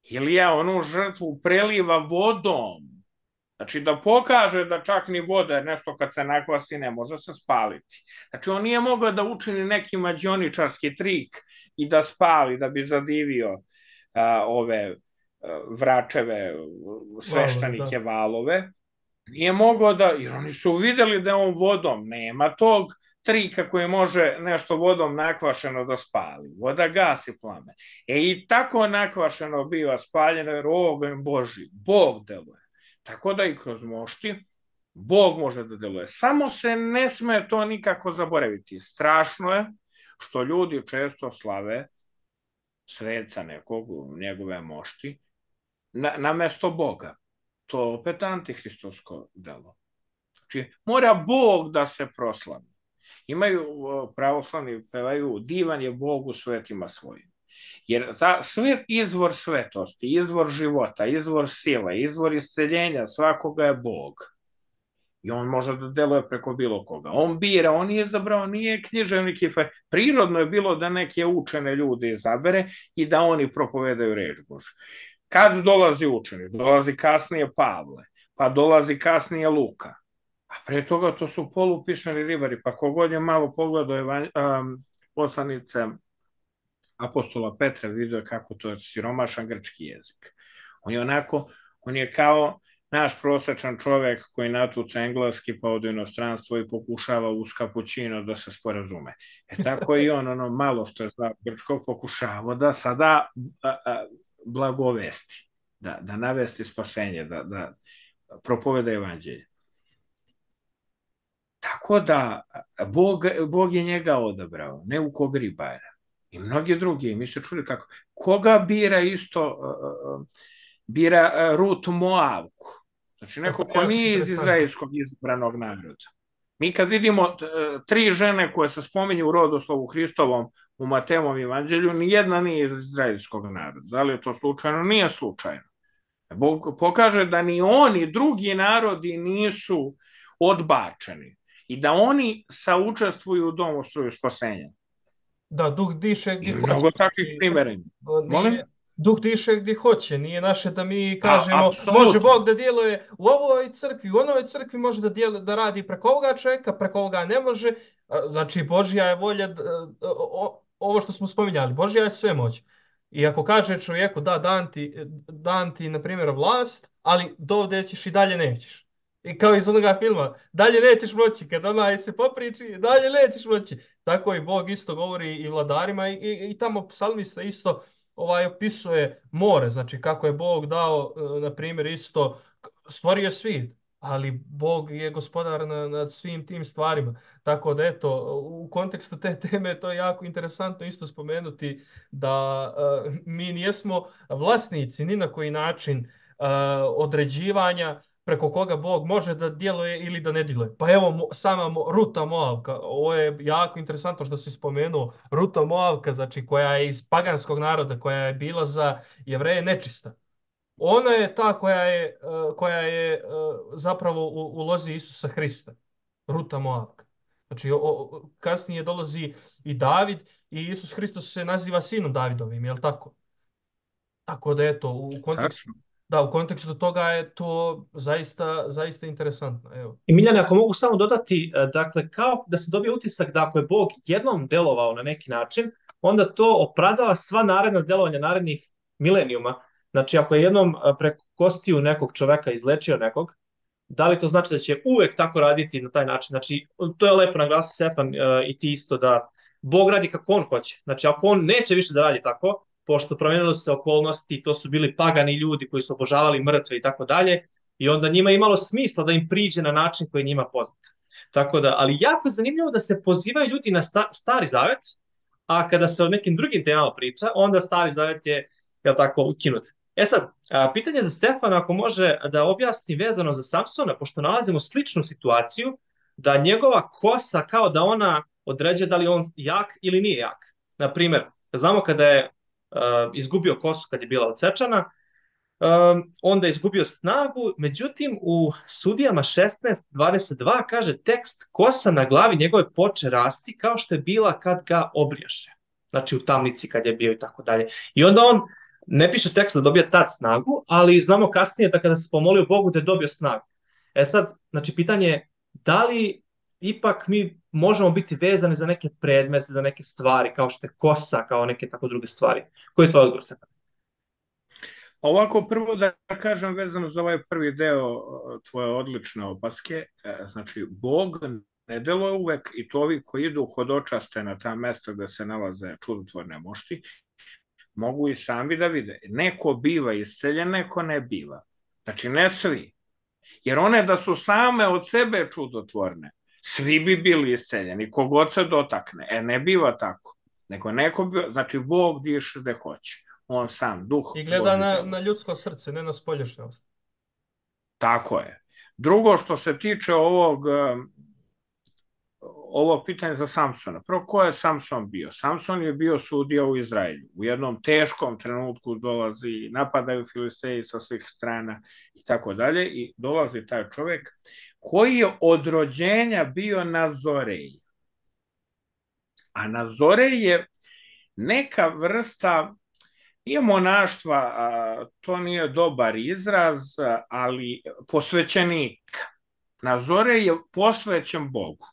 Ilija onu žrtvu preliva vodom. Znači da pokaže da čak ni voda, nešto kad se nakvasi ne može se spaliti. Znači on nije mogao da učini neki mađioničarski trik i da spali, da bi zadivio a, ove a, vračeve, sveštenike, valove. Nije mogao da, jer oni su videli da je on vodom, nema tog trika koji može nešto vodom nakvašeno da spali. Voda gasi plame. E i tako nakvašeno biva spaljeno jer oganj Boži, Bog deluje. Tako da i kroz mošti Bog može da deluje. Samo se ne sme to nikako zaboraviti. Strašno je što ljudi često slave sveca nekog, njegove mošti, na, na mesto Boga. To je opet antihristovsko delo. Znači, mora Bog da se proslavi. Imaju pravoslavni, pevaju, divan je Bog u svetima svojim. Jer ta svet, izvor svetosti, izvor života, izvor sile, izvor isceljenja svakoga je Bog. I on može da deluje preko bilo koga. On bira, on je izabrao, nije književnik i far. Prirodno je bilo da neke učene ljude izabere i da oni propovedaju reč Božju. Kad dolazi učenik? Dolazi kasnije Pavle, pa dolazi kasnije Luka. A pre toga to su polupismeni ribari, pa kogod je malo pogledao evan, um, poslanice apostola Petra, vidio kako to je siromašan grčki jezik. On je onako, on je kao naš prosečan čovjek koji natuca engleski pa ode u inostranstvo i pokušava uz kapućino da se sporazume. E tako i on, ono malo što je znao grčkog, pokušava da sada a, a, blagovesti, da, da navesti spasenje, da, da propoveda evanđelje. Tako da Bog, Bog je njega odabrao, ne u kog ribara. I mnogi drugi, mi se čuli kako, koga bira isto, uh, bira uh, Rut Moavku. Znači neko ko nije iz izraelskog izabranog naroda. Mi kad vidimo uh, tri žene koje se spominju u rodoslovu Hristovom u Matevom evanđelju, nijedna nije iz izraelskog naroda. Da li je to slučajno? Nije slučajno. Bog pokaže da ni oni, drugi narodi nisu odbačeni i da oni saučestvuju u domostroju spasenja. Da, duh diše gdje hoće. Mnogo takvih primjerenja. Molim? Duh diše gdje hoće, nije naše da mi kažemo, a, može Bog da djeluje u ovoj crkvi, u onoj crkvi može da, djeluje, da radi preko ovoga čovjeka, preko ovoga ne može. Znači, Božja je volja, ovo što smo spominjali, Božja je sve moć. I ako kaže čovjeku, da, dan ti, dan ti na primjer, vlast, ali dovde ćeš i dalje nećeš. I kao iz onoga filma, dalje nećeš moći, kad onaj se popriči, dalje nećeš moći. Tako i Bog isto govori i vladarima i, i, i tamo psalmista isto ovaj opisuje more, znači kako je Bog dao, na primjer, isto stvorio svijet, ali Bog je gospodar na, nad svim tim stvarima. Tako da eto, u kontekstu te teme to je jako interesantno isto spomenuti da uh, mi nijesmo vlasnici ni na koji način uh, određivanja preko koga Bog može da djeluje ili da ne djeluje. Pa evo sama Ruta Moavka, ovo je jako interesantno što si spomenuo, Ruta Moavka, znači koja je iz paganskog naroda, koja je bila za Jevreje nečista. Ona je ta koja je, koja je zapravo u, u lozi Isusa Hrista, Ruta Moavka. Znači o, kasnije dolazi i David i Isus Hristos se naziva sinom Davidovim, je li tako? Tako da eto, u kontekstu, Da, u kontekstu toga je to zaista, zaista interesantno. Evo. I Miljane, ako mogu samo dodati, e, dakle, kao da se dobije utisak da ako je Bog jednom delovao na neki način, onda to opravdava sva naredna delovanja narednih milenijuma. Znači, ako je jednom e, preko kostiju nekog čoveka izlečio nekog, da li to znači da će uvek tako raditi na taj način? Znači, to je lepo naglasio Stefan e, i ti isto da Bog radi kako on hoće. Znači, ako on neće više da radi tako, pošto promenilo se okolnosti, to su bili pagani ljudi koji su obožavali mrtve i tako dalje, i onda njima je imalo smisla da im priđe na način koji je njima poznat. Tako da, ali jako je zanimljivo da se pozivaju ljudi na sta, stari zavet, a kada se o nekim drugim temama priča, onda stari zavet je, je tako, ukinut. E sad, a, pitanje za Stefana, ako može da objasni vezano za Samsona, pošto nalazimo sličnu situaciju, da njegova kosa kao da ona određuje da li on jak ili nije jak. Naprimer, znamo kada je uh, izgubio kosu kad je bila odsečana, um, onda je izgubio snagu, međutim u Sudijama šesnaest dvadeset dva kaže tekst kosa na glavi njegove poče rasti kao što je bila kad ga obrijaše. Znači u tamnici kad je bio i tako dalje. I onda on ne piše tekst da dobija tad snagu, ali znamo kasnije da kada se pomolio Bogu da je dobio snagu. E sad, znači pitanje je da li ipak mi možemo biti vezani za neke predmete, za neke stvari, kao što je kosa, kao neke tako druge stvari. Koji je tvoj odgovor, Stefan? Ovako, prvo da kažem vezano za ovaj prvi deo tvoje odlične opaske, znači Bog ne deluje uvek, i to ovi koji idu hodočaste na ta mesta gde se nalaze čudotvorne mošti, mogu i sami da vide. Neko biva isceljen, neko ne biva. Znači ne svi. Jer one da su same od sebe čudotvorne, svi bi bili isceljeni, kogod se dotakne. E, ne biva tako. Nego neko biva, znači Bog diše gde hoće. On sam, duh I gleda na, na ljudsko srce, ne na spoljašnjost. Tako je. Drugo, što se tiče ovog, ovog pitanja za Samsona. Prvo, ko je Samson bio? Samson je bio sudija u Izraelju. U jednom teškom trenutku dolazi, napadaju Filisteji sa svih strana i tako dalje, i dolazi taj čovjek koji je od rođenja bio Nazorej. A Nazorej je neka vrsta, nije monaštva, to nije dobar izraz, ali posvećenika. Nazorej je posvećen Bogu.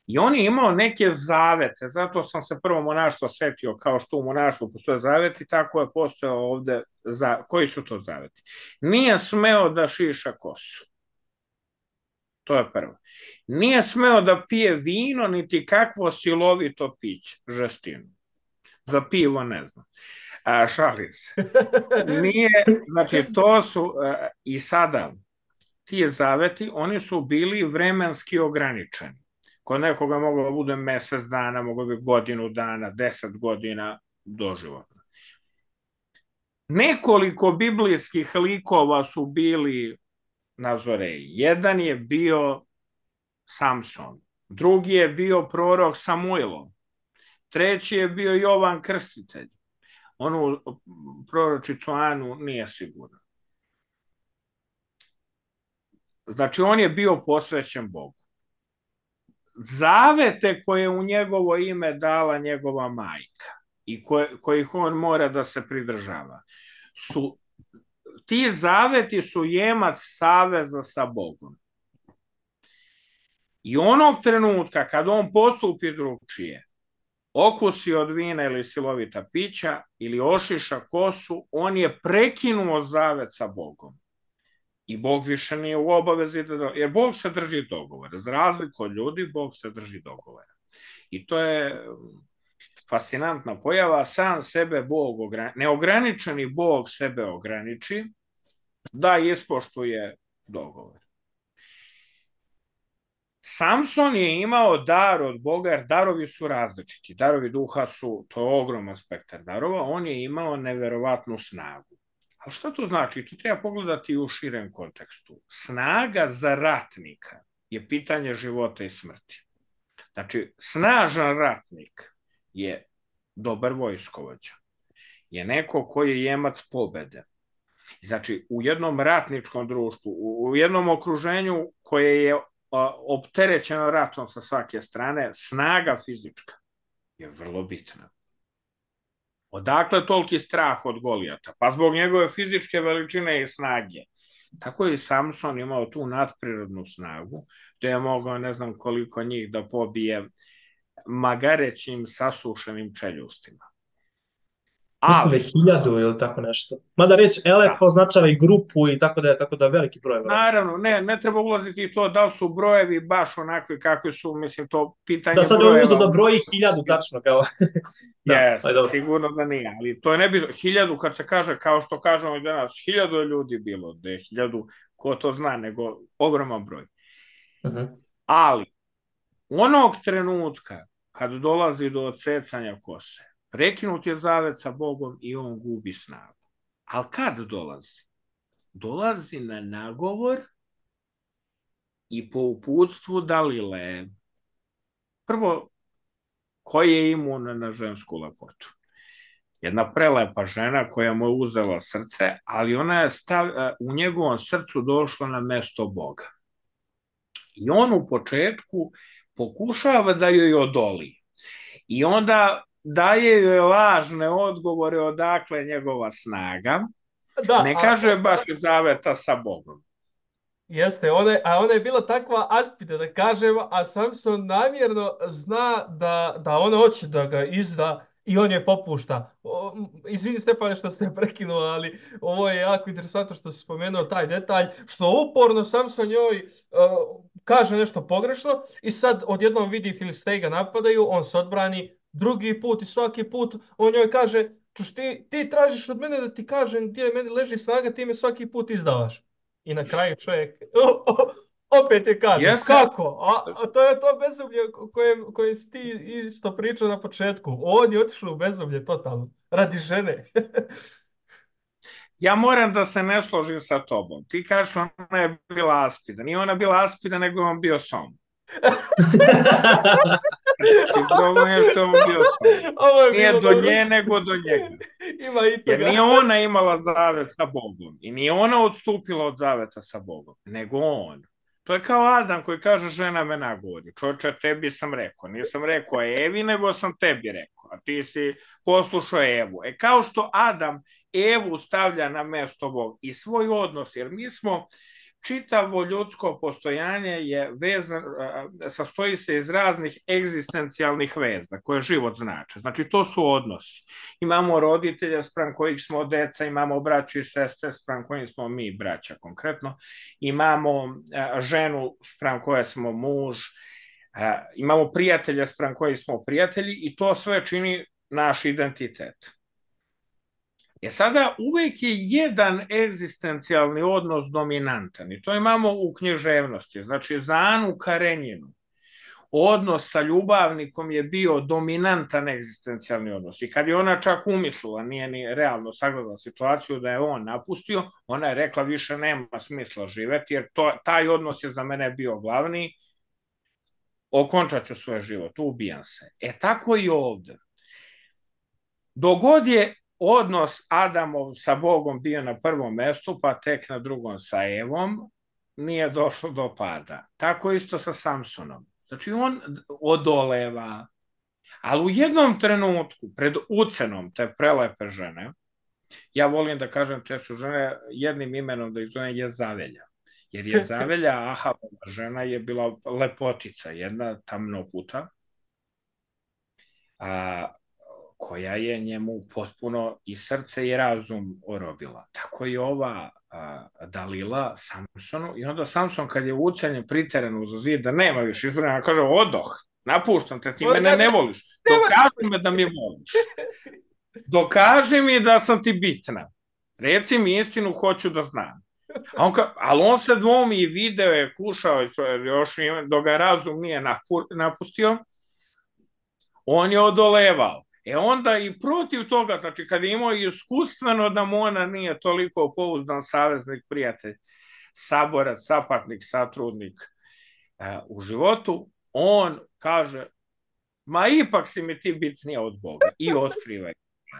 I on je imao neke zavete, zato sam se prvo monaštvo setio, kao što u monaštvu postoje zaveti, tako je postojao ovde, za, koji su to zaveti. Nije smeo da šiša kosu. To je prvo. Nije smeo da pije vino, niti kakvo silovito piće, žestinu. Za pivo ne znam. A, šalim se. Nije, znači to su, a, i sada, ti zaveti, oni su bili vremenski ograničeni. Kod nekoga moglo da bude mesec dana, moglo bi godinu dana, deset godina doživotno. Nekoliko biblijskih likova su bili Nazoreji. Jedan je bio Samson, drugi je bio prorok Samuilo, treći je bio Jovan Krstitelj. Onu proročicu Anu nije sigurno. Znači, on je bio posvećen Bogu. Zavete koje u njegovo ime dala njegova majka i koje, kojih on mora da se pridržava, su, ti zaveti su jemac saveza sa Bogom. I onog trenutka kad on postupi drugčije, okusi od vina ili silovita pića ili ošiša kosu, on je prekinuo zavet sa Bogom. I Bog više nije u obavezi da... Jer Bog se drži dogovora. Za razliku od ljudi, Bog se drži dogovora. I to je fascinantna pojava. Sam sebe Bog ograniči. Neograničeni Bog sebe ograniči da ispoštuje dogovor. Samson je imao dar od Boga, jer darovi su različiti. Darovi duha su, to je ogroman spektar darova. On je imao neverovatnu snagu. Ali šta to znači? To treba pogledati u širem kontekstu. Snaga za ratnika je pitanje života i smrti. Znači, snažan ratnik je dobar vojskovođa. Je neko koji je jemac pobede. Znači, u jednom ratničkom društvu, u jednom okruženju koje je opterećeno ratom sa svake strane, snaga fizička je vrlo bitna. Odakle toliki strah od Golijata? Pa zbog njegove fizičke veličine i snage. Tako je i Samson imao tu nadprirodnu snagu, da je mogao ne znam koliko njih da pobije magarećim sasušenim čeljustima. Mislim da je Ali, hiljadu ili tako nešto. Mada reći elef da, označava i grupu i tako da je, tako da je veliki broj. Vjerojatno. naravno, ne, ne treba ulaziti i to da li su brojevi baš onakvi kakvi su, mislim, to pitanje Da sad je on uzeo brojeva. da broji hiljadu tačno kao. Da, ali Jeste, dobro. sigurno da nije, ali to je ne bi, hiljadu kad se kaže, kao što kažemo i danas, hiljadu je ljudi bilo, da je hiljadu, ko to zna, nego ogroman broj. Mhm. Ali, onog trenutka kad dolazi do odsecanja kose, prekinut je zavet sa Bogom i on gubi snagu. Ali kad dolazi? Dolazi na nagovor i po uputstvu Dalile. Prvo, koji je imun na žensku lepotu? Jedna prelepa žena koja mu je uzela srce, ali ona je stav, u njegovom srcu došla na mesto Boga. I on u početku pokušava da joj odoli. I onda daje joj lažne odgovore odakle njegova snaga. Da, Ne a- kaže baš iz zaveta sa Bogom. Jeste, ona, je- a ona je bila takva aspida, da kažemo, a Samson namjerno zna da, da ona hoće da ga izda i on je popušta. O, m, izvini Stefane što ste prekinuo, ali ovo je jako interesantno što si spomenuo taj detalj, što uporno Samson njoj uh, kaže nešto pogrešno i sad odjednom vidi Filisteji ga napadaju, on se odbrani drugi put i svaki put on njoj kaže, čuš ti, ti tražiš od mene da ti kažem gdje meni leži snaga, ti me svaki put izdavaš. I na kraju čovjek o, o, opet je kaže, Jeste. kako? A, a to je to bezumlje o kojem, kojem si ti isto pričao na početku. On je otišao u bezumlje totalno, radi žene. Ja moram da se ne složim sa tobom. Ti kažeš ona je bila aspida. Nije ona bila aspida, nego je on bio som. Znači, problem je što je on bio som. Ovo je Nije bilo do dobro. nje, nego do njega. Ima i Jer toga. nije ona imala zavet sa Bogom i nije ona odstupila od zaveta sa Bogom, nego on. To je kao Adam koji kaže žena me nagovori. Čoče, tebi sam rekao. Nisam rekao Evi, nego sam tebi rekao. A ti si poslušao Evu. E kao što Adam Evu stavlja na mesto Bog i svoj odnos, jer mi smo, čitavo ljudsko postojanje je vezan, sastoji se iz raznih egzistencijalnih veza koje život znači. Znači to su odnosi. Imamo roditelja spram kojih smo deca, imamo braću i sestre spram kojih smo mi braća konkretno, imamo ženu spram koje smo muž, imamo prijatelja spram kojih smo prijatelji i to sve čini naš identitet. E sada uvek je jedan egzistencijalni odnos dominantan i to imamo u književnosti. Znači za Anu Karenjinu odnos sa ljubavnikom je bio dominantan egzistencijalni odnos i kad je ona čak umislila, nije ni realno sagledala situaciju da je on napustio, ona je rekla više nema smisla živeti jer to, taj odnos je za mene bio glavni, okončat ću svoj život, ubijam se. E tako i ovde. Dogod je odnos Adamov sa Bogom bio na prvom mestu, pa tek na drugom sa Evom, nije došlo do pada. Tako isto sa Samsonom. Znači on odoleva, ali u jednom trenutku, pred ucenom te prelepe žene, ja volim da kažem te su žene jednim imenom da ih zovem Jezavelja. Jer Jezavelja, Ahabova žena, je bila lepotica, jedna tamnoputa, a koja je njemu potpuno i srce i razum orobila. Tako i ova a, Dalila Samsonu i onda Samson kad je ucenjen priteren uz zid da nema više izbrana, kaže odoh, napuštam te, ti On mene kaže, ne voliš, dokaži me da mi voliš. Dokaži mi da sam ti bitna. Reci mi istinu, hoću da znam. A on ka, ali on se dvomi i video je, kušao, još dok ga razum nije napustio, on je odolevao. E onda i protiv toga, znači kad je imao iskustveno da mu ona nije toliko pouzdan saveznik, prijatelj, saborac, sapatnik, satrudnik uh, u životu, on kaže, ma ipak si mi ti bitnija od Boga i otkriva.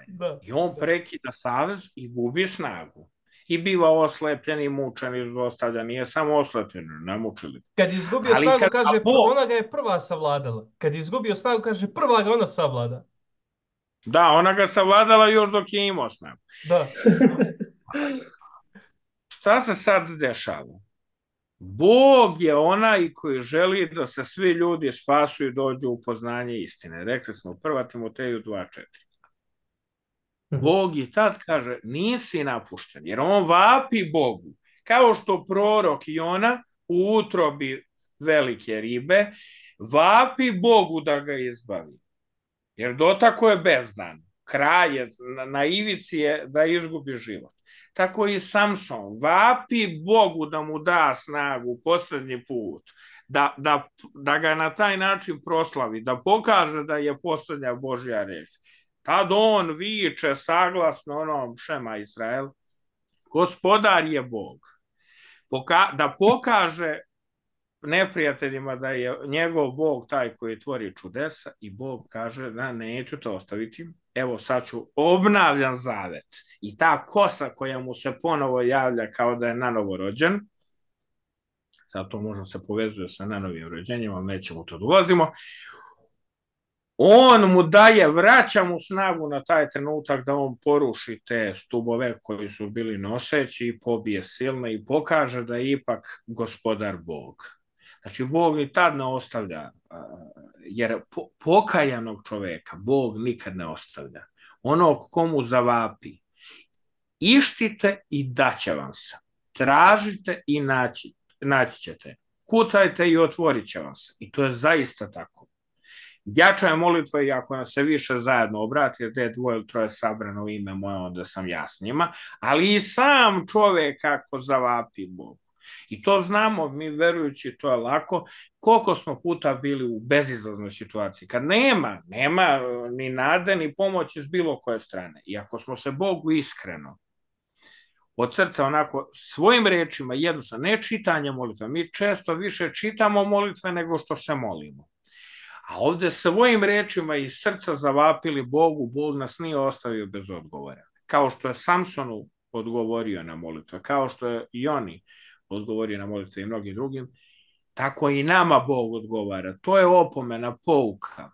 Da. I on prekida savez i gubi snagu. I biva oslepljen i mučen i zlostavljan. Nije samo oslepljen, ne mučili. Kad je izgubio ali snagu, kad, kaže, Bog... ona ga je prva savladala. Kad je izgubio snagu, kaže, prva ga ona savlada. Da, ona ga savladala još dok je imao snagu. Da. Šta se sad dešava? Bog je onaj koji želi da se svi ljudi spasu i dođu u poznanje istine. Rekli smo prva Timoteju dva četiri. Bog i tad kaže, nisi napušten, jer on vapi Bogu. Kao što prorok Jona u utrobi velike ribe vapi Bogu da ga izbavi. Jer dotako je bezdan. Kraj je, na ivici je da izgubi život. Tako i Samson vapi Bogu da mu da snagu poslednji put, da, da, da ga na taj način proslavi, da pokaže da je poslednja Božja reč. Tad on viče saglasno onom Šema Israel, gospodar je Bog. Poka da pokaže neprijateljima da je njegov Bog taj koji tvori čudesa i Bog kaže da neću to ostaviti. Evo sad ću obnavljan zavet. I ta kosa koja mu se ponovo javlja kao da je nanovo rođen, sad to možda se povezuje sa nanovim rođenjima, nećemo to dolazimo, on mu daje, vraća mu snagu na taj trenutak da on poruši te stubove koji su bili noseći i pobije silne i pokaže da je ipak gospodar Bog. Znači, Bog ni tad ne ostavlja, jer pokajanog čoveka Bog nikad ne ostavlja. Onog komu zavapi, ištite i daće vam se. Tražite i naći, naći ćete. Kucajte i otvorit će vam se. I to je zaista tako. Jača je molitva i ako nas se više zajedno obrati, jer je dvoje ili troje sabrano u ime moje, onda sam ja s njima, ali i sam čovjek kako zavapi Bogu. I to znamo, mi verujući, to je lako, koliko smo puta bili u bezizlaznoj situaciji, kad nema, nema ni nade, ni pomoći s bilo koje strane. I ako smo se Bogu iskreno, od srca onako, svojim rečima, jednostavno, ne čitanje molitve, mi često više čitamo molitve nego što se molimo. A ovde svojim rečima iz srca zavapili Bogu, Bog nas nije ostavio bez odgovora. Kao što je Samsonu odgovorio na molitve, kao što je i oni odgovorio na molitve i mnogim drugim, tako i nama Bog odgovara. To je opomena, pouka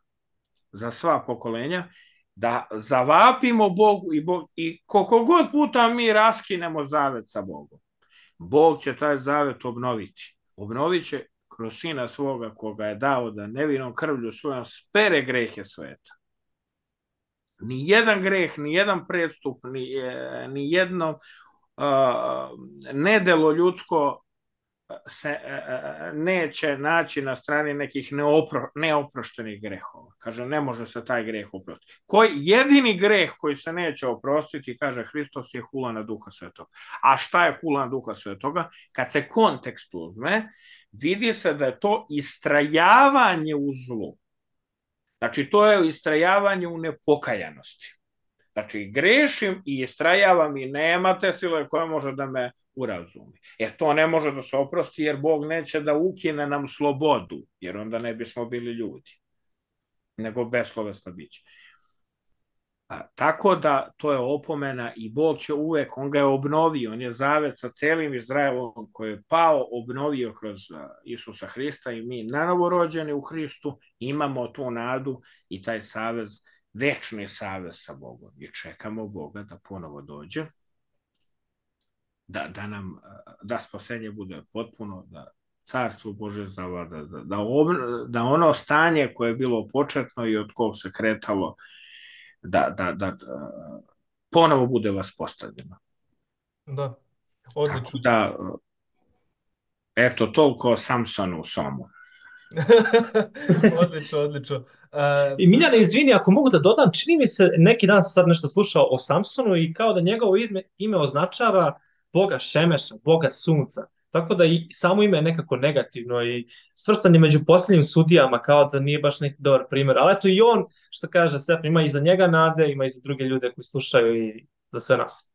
za sva pokolenja, da zavapimo Bogu i, Bog, i koliko god puta mi raskinemo zavet sa Bogom, Bog će taj zavet obnoviti. Obnovit će kroz sina svoga koga je dao da nevinom krvlju svojom spere grehe sveta. Ni jedan greh, ni jedan predstup, ni, ni jedno uh, nedelo ljudsko se uh, neće naći na strani nekih neopro, neoproštenih grehova. Kaže, ne može se taj greh oprostiti. Koji, jedini greh koji se neće oprostiti, kaže Hristos, je hulana Duha Svetoga. A šta je hulana Duha Svetoga? Kad se kontekst uzme, vidi se da je to istrajavanje u zlu. Znači, to je istrajavanje u nepokajanosti. Znači, grešim i istrajavam i nema te sile koja može da me urazumi. Jer to ne može da se oprosti, jer Bog neće da ukine nam slobodu, jer onda ne bismo bili ljudi, nego beslovesno biće. A, tako da to je opomena i Bog će uvek, on ga je obnovio, on je zavet sa celim Izraelom koji je pao, obnovio kroz Isusa Hrista i mi nanovorođeni u Hristu imamo tu nadu i taj savez, večni savez sa Bogom i čekamo Boga da ponovo dođe, da, da nam, da spasenje bude potpuno, da carstvo Bože zavlada, da, da, da ono stanje koje je bilo početno i od kog se kretalo, da, da, da, da ponovo bude vaspostavljeno. Da, odlično. Tako da, eto, toliko o Samsonu u Somu. Odlično, odlično. Uh, I Miljane, izvini, ako mogu da dodam, čini mi se, neki dan sam sad nešto slušao o Samsonu i kao da njegovo ime, ime označava Boga Šemeša, Boga Sunca. Tako da i samo ime je nekako negativno i svrstan je među posljednjim sudijama, kao da nije baš neki dobar primjer. Ali eto i on, što kaže Stefan, ima i za njega nade, ima i za druge ljude koji slušaju i za sve nas.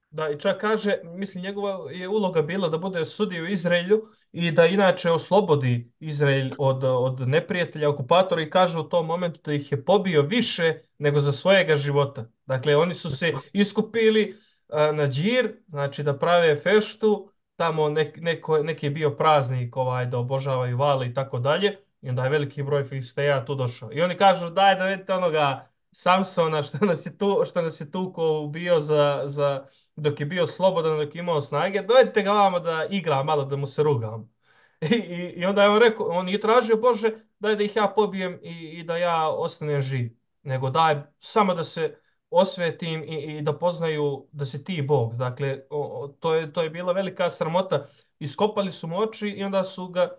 Da, i čak kaže, mislim, njegova je uloga bila da bude sudija u Izraelju i da inače oslobodi Izrael od, od neprijatelja, okupatora i kaže u tom momentu da ih je pobio više nego za svojega života. Dakle, oni su se iskupili a, na džir, znači da prave feštu, tamo nek, neko, neki je bio praznik ovaj, da obožavaju vale i tako dalje, i onda je veliki broj Filisteja tu došao. I oni kažu, daj da vidite onoga Samsona što nas je tu, što nas je tuko bio za, za, dok je bio slobodan, dok je imao snage, dovedite ga vamo da igra malo, da mu se rugam. I, i, i onda je on rekao, on je tražio, Bože, daj da ih ja pobijem i, i da ja ostanem živ. Nego daj samo da se osvetim i, i da poznaju da si ti Bog. Dakle, o, o, to je, to je bila velika sramota. Iskopali su mu oči i onda su ga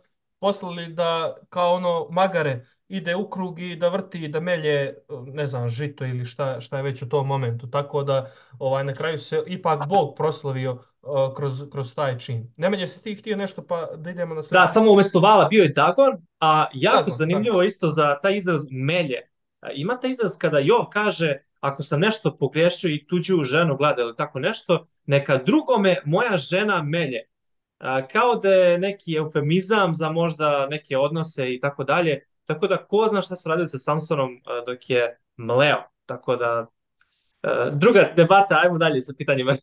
poslali da, kao ono, magare, ide u krug i da vrti i da melje, ne znam, žito ili šta, šta je već u tom momentu. Tako da ovaj, na kraju se ipak Bog proslavio uh, kroz, kroz taj čin. Nemanje, si ti htio nešto pa da idemo na Da, sljedeći? samo umjesto vala bio je Dagon, a jako Dagon, zanimljivo Dagon. isto za taj izraz melje. A, ima taj izraz kada Jov kaže, ako sam nešto pogriješio i tuđu ženu gleda ili tako nešto, neka drugome moja žena melje. A, kao da je neki eufemizam za možda neke odnose i tako dalje. Tako da ko zna šta su radili sa Samsonom a, dok je mleo. Tako da, a, druga debata, ajmo dalje sa pitanjima.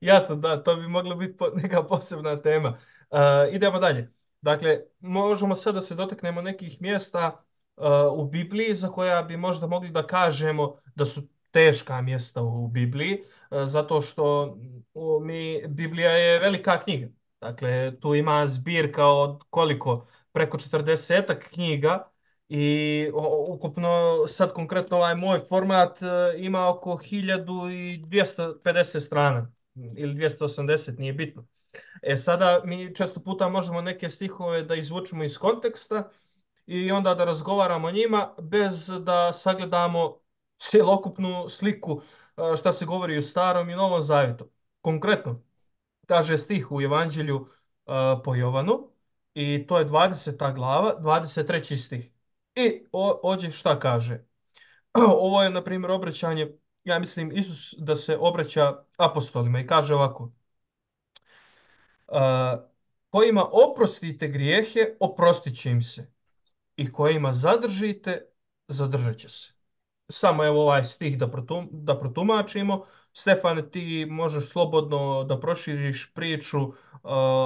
Jasno, da, to bi mogla biti po, neka posebna tema. Uh, idemo dalje. Dakle, možemo sad da se dotaknemo nekih mjesta uh, u Bibliji za koja bi možda mogli da kažemo da su teška mjesta u Bibliji, uh, zato što u, mi, Biblija je velika knjiga. Dakle, tu ima zbirka od koliko? Preko četrdesetak knjiga i o, ukupno sad konkretno ovaj moj format uh, ima oko hiljadu dvjesto pedeset strana ili dvjesto osamdeset, nije bitno. E sada mi često puta možemo neke stihove da izvučemo iz konteksta i onda da razgovaramo o njima bez da sagledamo cjelokupnu sliku a, šta se govori u Starom i Novom Zavjetu. Konkretno, kaže stih u Evanđelju a, po Jovanu i to je dvadeseta glava, dvadeset treći stih. I o, ođe šta kaže? Ovo je, na primjer, obraćanje, ja mislim, Isus da se obraća apostolima i kaže ovako: Uh, kojima oprostite grijehe, oprostit će im se. I kojima zadržite, zadržat će se. Samo evo ovaj stih da, protum, da protumačimo. Stefane, ti možeš slobodno da proširiš priču uh,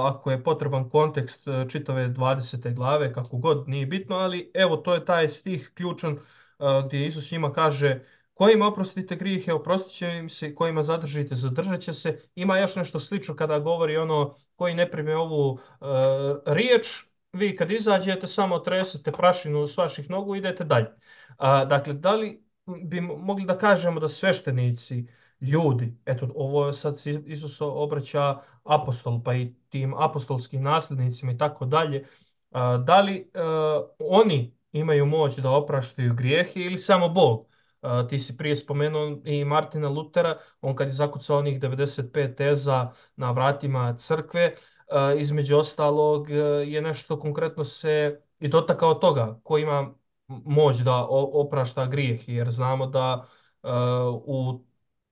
ako je potreban kontekst uh, čitave dvadesete glave, kako god, nije bitno, ali evo to je taj stih ključan uh, gdje Isus njima kaže: kojima oprostite grijehe, oprostit će im se, kojima zadržite, zadržat će se. Ima još nešto slično kada govori ono koji ne prime ovu uh, riječ, vi kad izađete samo tresete prašinu s vaših nogu i idete dalje. A, dakle, da li bi mogli da kažemo da sveštenici, ljudi, eto, ovo sad se Isus obraća apostol, pa i tim apostolskim nasljednicima i tako dalje, a, da li a, oni imaju moć da opraštaju grijehe ili samo Bog? A, ti si prije spomenuo i Martina Lutera, on kad je zakucao onih devedeset pet teza na vratima crkve, a, između ostalog je nešto konkretno se i dotakao toga, ko ima moć da oprašta grijeh, jer znamo da uh, u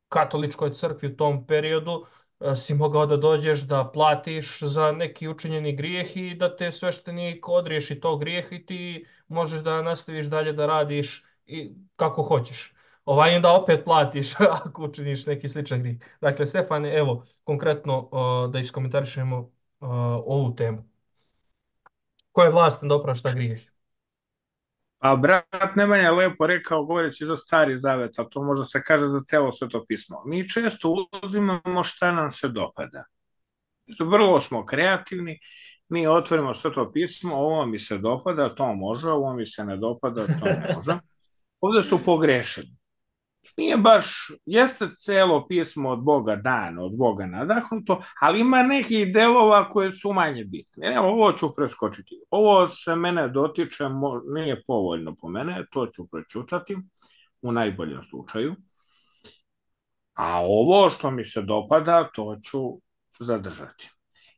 katoličkoj crkvi u tom periodu uh, si mogao da dođeš da platiš za neki učinjeni grijeh i da te sveštenik odriješi tog grijeha i ti možeš da nastaviš dalje da radiš i kako hoćeš. Ovaj onda opet platiš ako učiniš neki sličan grijeh. Dakle, Stefane, evo, konkretno uh, da iskomentarišemo uh, ovu temu. Ko je vlastan da oprašta grijeh? A brat Nemanja je lepo rekao, govoreći za Stari Zavet, a to možda se kaže za celo Sveto pismo. Mi često uzimamo šta nam se dopada. Vrlo smo kreativni, mi otvorimo Sveto pismo, ovo mi se dopada, to može, ovo mi se ne dopada, to ne može. Ovdje su pogrešili. Nije baš, jeste celo pismo od Boga dano, od Boga nadahnuto, ali ima nekih delova koje su manje bitne. Evo, ovo ću preskočiti. Ovo se mene dotiče, nije povoljno po mene, to ću prećutati u najboljem slučaju. A ovo što mi se dopada, to ću zadržati.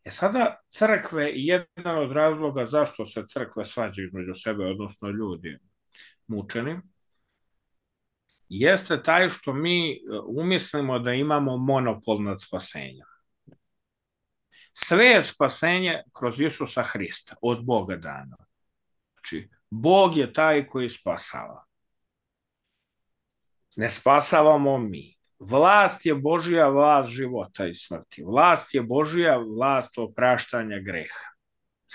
E sada, crkve, jedan od razloga zašto se crkve svađaju između sebe, odnosno ljudi mučeni, jeste taj što mi umislimo da imamo monopol nad spasenjem. Sve je spasenje kroz Isusa Hrista, od Boga dano. Znači, Bog je taj koji spasava. Ne spasavamo mi. Vlast je Božja vlast života i smrti. Vlast je Božja vlast opraštanja greha.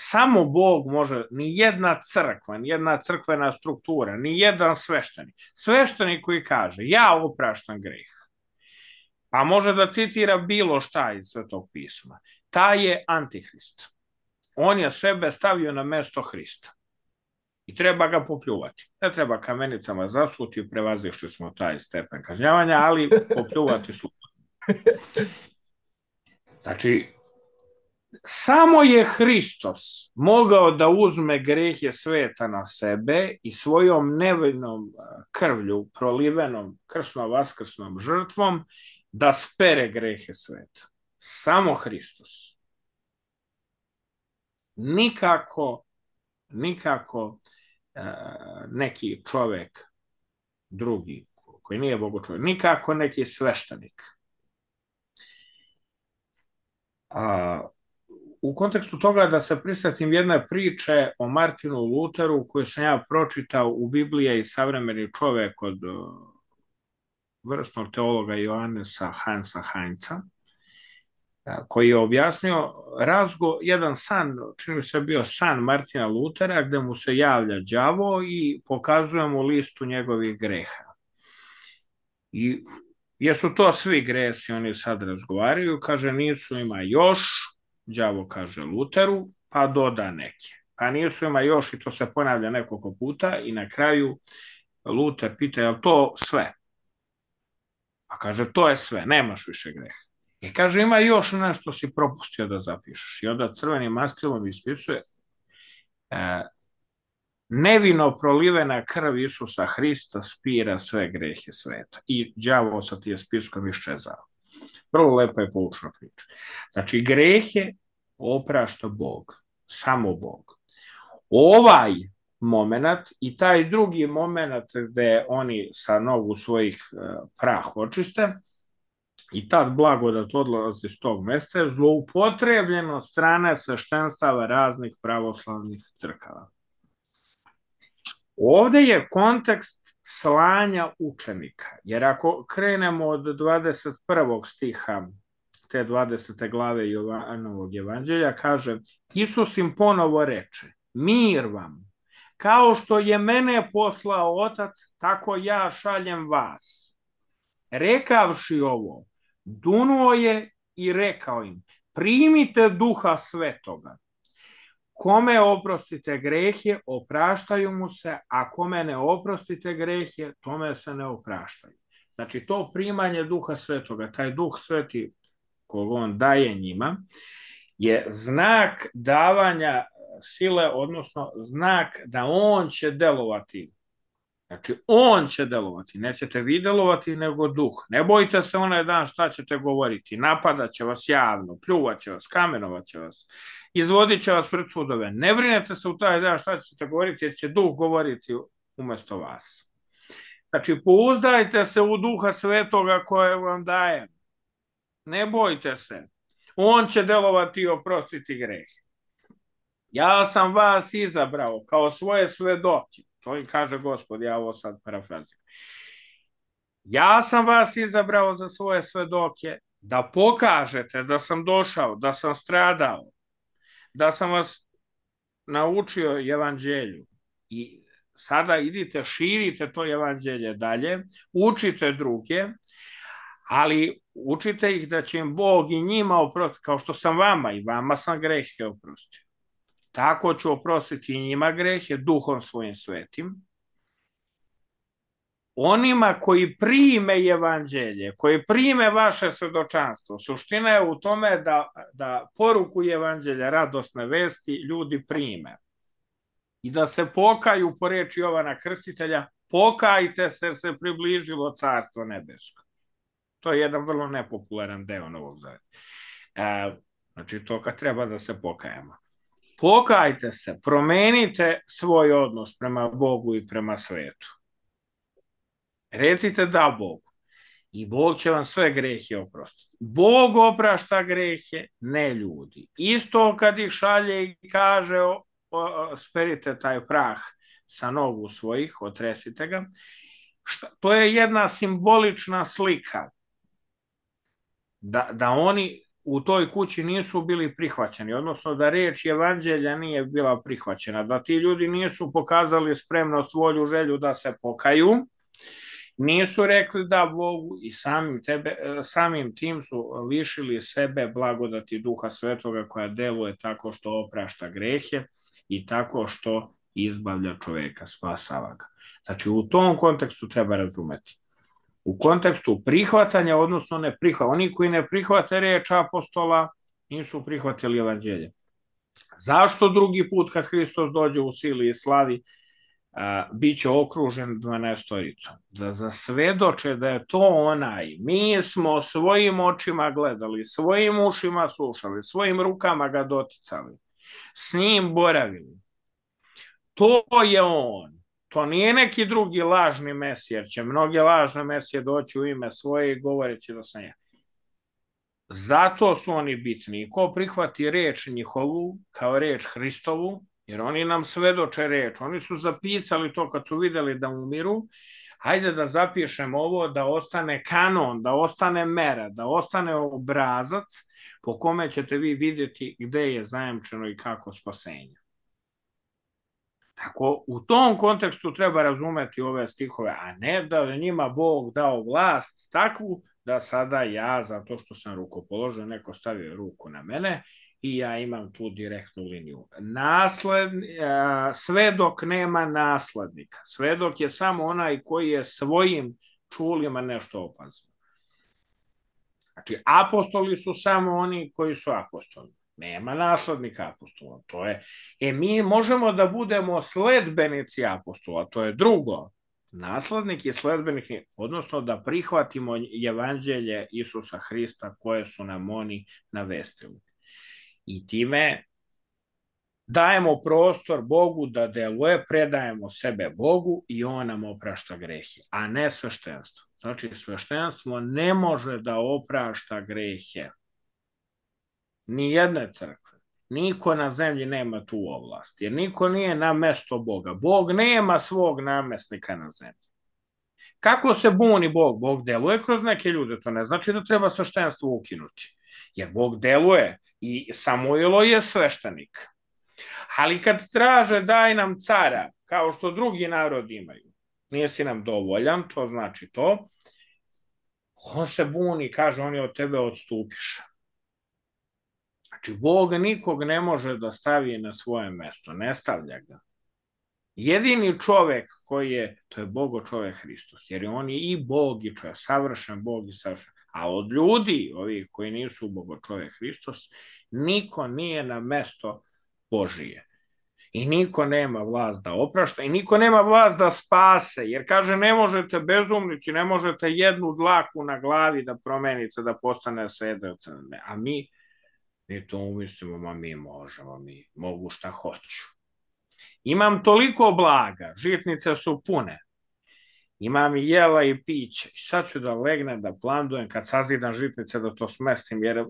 Samo Bog može, ni jedna crkva, ni jedna crkvena struktura, ni jedan sveštenik. Sveštenik koji kaže, ja opraštam greh, pa može da citira bilo šta iz Svetog pisma, taj je antihrist. On je sebe stavio na mesto Hrista. I treba ga popljuvati. Ne treba kamenicama zasuti, prevazišli smo taj stepen kažnjavanja, ali popljuvati slobodno. Znači, samo je Hristos mogao da uzme grehe sveta na sebe i svojom nevinom krvlju, prolivenom krsno-vaskrsnom žrtvom, da spere grehe sveta. Samo Hristos. Nikako, nikako neki čovek drugi, koji nije Bogu čovek, nikako neki sveštenik. A, u kontekstu toga da se prisjetim jedne priče o Martinu Luteru koju sam ja pročitao u Bibliji i savremeni čovek od vrsnog teologa Johannesa Hansa Heinza, koji je objasnio razgo, jedan san, čini mi se bio san Martina Lutera, gde mu se javlja đavo i pokazuje mu listu njegovih greha. I jesu to svi gresi, oni sad razgovaraju, kaže nisu, ima još, đavo kaže Luteru, pa doda neke. Pa nisu, ima još, i to se ponavlja nekoliko puta i na kraju Luter pita, je li to sve? Pa kaže, to je sve, nemaš više greha. I kaže, ima još nešto si propustio da zapišeš. I onda crvenim mastilom ispisuje e, nevino prolivena krv Isusa Hrista spira sve grehe sveta. I đavo sa tije spiskom iščezao. Vrlo lepa je poučna priča. Znači, grehe oprašta Bog. Samo Bog. Ovaj moment i taj drugi moment gde oni sa nogu svojih e, prah očiste, i tad blagodat odlazi s tog mesta je zloupotrebljeno od strane sveštenstava raznih pravoslavnih crkava. Ovde je kontekst slanja učenika, jer ako krenemo od dvadeset prvog stiha te dvadesete glave Jovanovog evanđelja, kaže, Isus im ponovo reče, mir vam, kao što je mene poslao Otac, tako ja šaljem vas. Rekavši ovo, dunuo je i rekao im, primite Duha Svetoga. Kome oprostite grehe, opraštaju mu se, a kome ne oprostite grehe, tome se ne opraštaju. Znači, to primanje Duha Svetoga, taj Duh Sveti kog on daje njima, je znak davanja sile, odnosno znak da on će delovati. Znači, on će delovati, nećete vi delovati, nego duh. Ne bojte se onaj dan šta ćete govoriti, napadat će vas javno, pljuvat će vas, kamenovat će vas, izvodit će vas pred sudove. Ne brinete se u taj dan šta ćete govoriti, jer će duh govoriti umesto vas. Znači, pouzdajte se u Duha Svetoga koje vam daje. Ne bojte se. On će delovati i oprostiti greh. Ja sam vas izabrao kao svoje svedoke. To im kaže Gospod, ja ovo sad parafraziram. Ja sam vas izabrao za svoje svedoke da pokažete da sam došao, da sam stradao, da sam vas naučio evanđelju. I sada idite, širite to evanđelje dalje, učite druge, ali učite ih da će im Bog i njima oprostiti, kao što sam vama i vama sam grehe oprostio. Tako ću oprostiti i njima grehe Duhom svojim svetim. Onima koji prime evanđelje, koji prime vaše svedočanstvo, suština je u tome da, da poruku evanđelja, radosne vesti, ljudi prime. I da se pokaju po reči Jovana Krstitelja, pokajte se jer se približilo Carstvo nebesko. To je jedan vrlo nepopularan deo Novog Zaveta. E, znači, to kad treba da se pokajemo. Pokajte se, promenite svoj odnos prema Bogu i prema svetu. Recite da Bogu. I Bog će vam sve grehe oprostiti. Bog oprašta grehe, ne ljudi. Isto kad ih šalje i kaže, o, o, sperite taj prah sa nogu svojih, otresite ga. Šta, to je jedna simbolična slika. Da, da oni u toj kući nisu bili prihvaćeni, odnosno da riječ evanđelja nije bila prihvaćena, da ti ljudi nisu pokazali spremnost, volju, želju da se pokaju, nisu rekli da Bogu i samim, tebe, samim tim su lišili sebe blagodati Duha Svetoga koja deluje tako što oprašta grehe i tako što izbavlja čoveka, spasava ga. Znači u tom kontekstu treba razumeti. U kontekstu prihvatanja, odnosno ne prihvatanja. Oni koji ne prihvate reč apostola nisu prihvatili evanđelje. Zašto drugi put kad Hristos dođe u sili i slavi a, bit će okružen dvanaestoricom? Da zasvedoče da je to onaj. Mi smo svojim očima gledali, svojim ušima slušali, svojim rukama ga doticali, s njim boravili. To je on. To nije neki drugi lažni mesij, jer će mnoge lažne mesije doći u ime svoje i govoreći da sam ja. Zato su oni bitni. Ko prihvati reč njihovu kao reč Hristovu, jer oni nam svedoče reč. Oni su zapisali to kad su videli da umiru. Hajde da zapišemo ovo, da ostane kanon, da ostane mera, da ostane obrazac po kome ćete vi vidjeti gde je zajamčeno i kako spasenje. Tako, u tom kontekstu treba razumeti ove stihove, a ne da je njima Bog dao vlast takvu da sada ja, zato što sam rukopoložen, neko stavio ruku na mene i ja imam tu direktnu liniju. Nasled, svedok nema naslednika. Svedok je samo onaj koji je svojim čulima nešto opazio. Znači, apostoli su samo oni koji su apostoli. Nema naslednika apostola. To je, e, mi možemo da budemo sledbenici apostola, to je drugo. Naslednik je sledbenik, odnosno da prihvatimo evanđelje Isusa Hrista koje su nam oni navestili. I time dajemo prostor Bogu da deluje, predajemo sebe Bogu i on nam oprašta grehe, a ne sveštenstvo. Znači, sveštenstvo ne može da oprašta grehe. Ni jedne crkve. Niko na zemlji nema tu ovlast, jer niko nije na mesto Boga. Bog nema svog namestnika na zemlji. Kako se buni Bog? Bog deluje kroz neke ljude, to ne znači da treba sveštenstvo ukinuti. Jer Bog deluje i Samuilo je sveštenik. Ali kad traže daj nam cara, kao što drugi narodi imaju, nisi nam dovoljan, to znači to, on se buni, kaže oni od tebe odstupiš. Znači, Bog nikog ne može da stavi na svoje mesto, ne stavlja ga. Jedini čovek koji je, to je Bogo čovek Hristos, jer on je i Bog i čovek, savršen Bog i savršen. A od ljudi, ovih koji nisu Bogo čovek Hristos, niko nije na mesto Božije. I niko nema vlast da oprašta, i niko nema vlast da spase, jer kaže ne možete bezumnici, ne možete jednu dlaku na glavi da promenite, da postane sedelca. A mi Mi to umislimo, ma mi možemo, mi mogu šta hoću. Imam toliko blaga, žitnice su pune. Imam i jela i piće. I sad ću da legnem, da plandujem, kad sazidam žitnice da to smestim, jer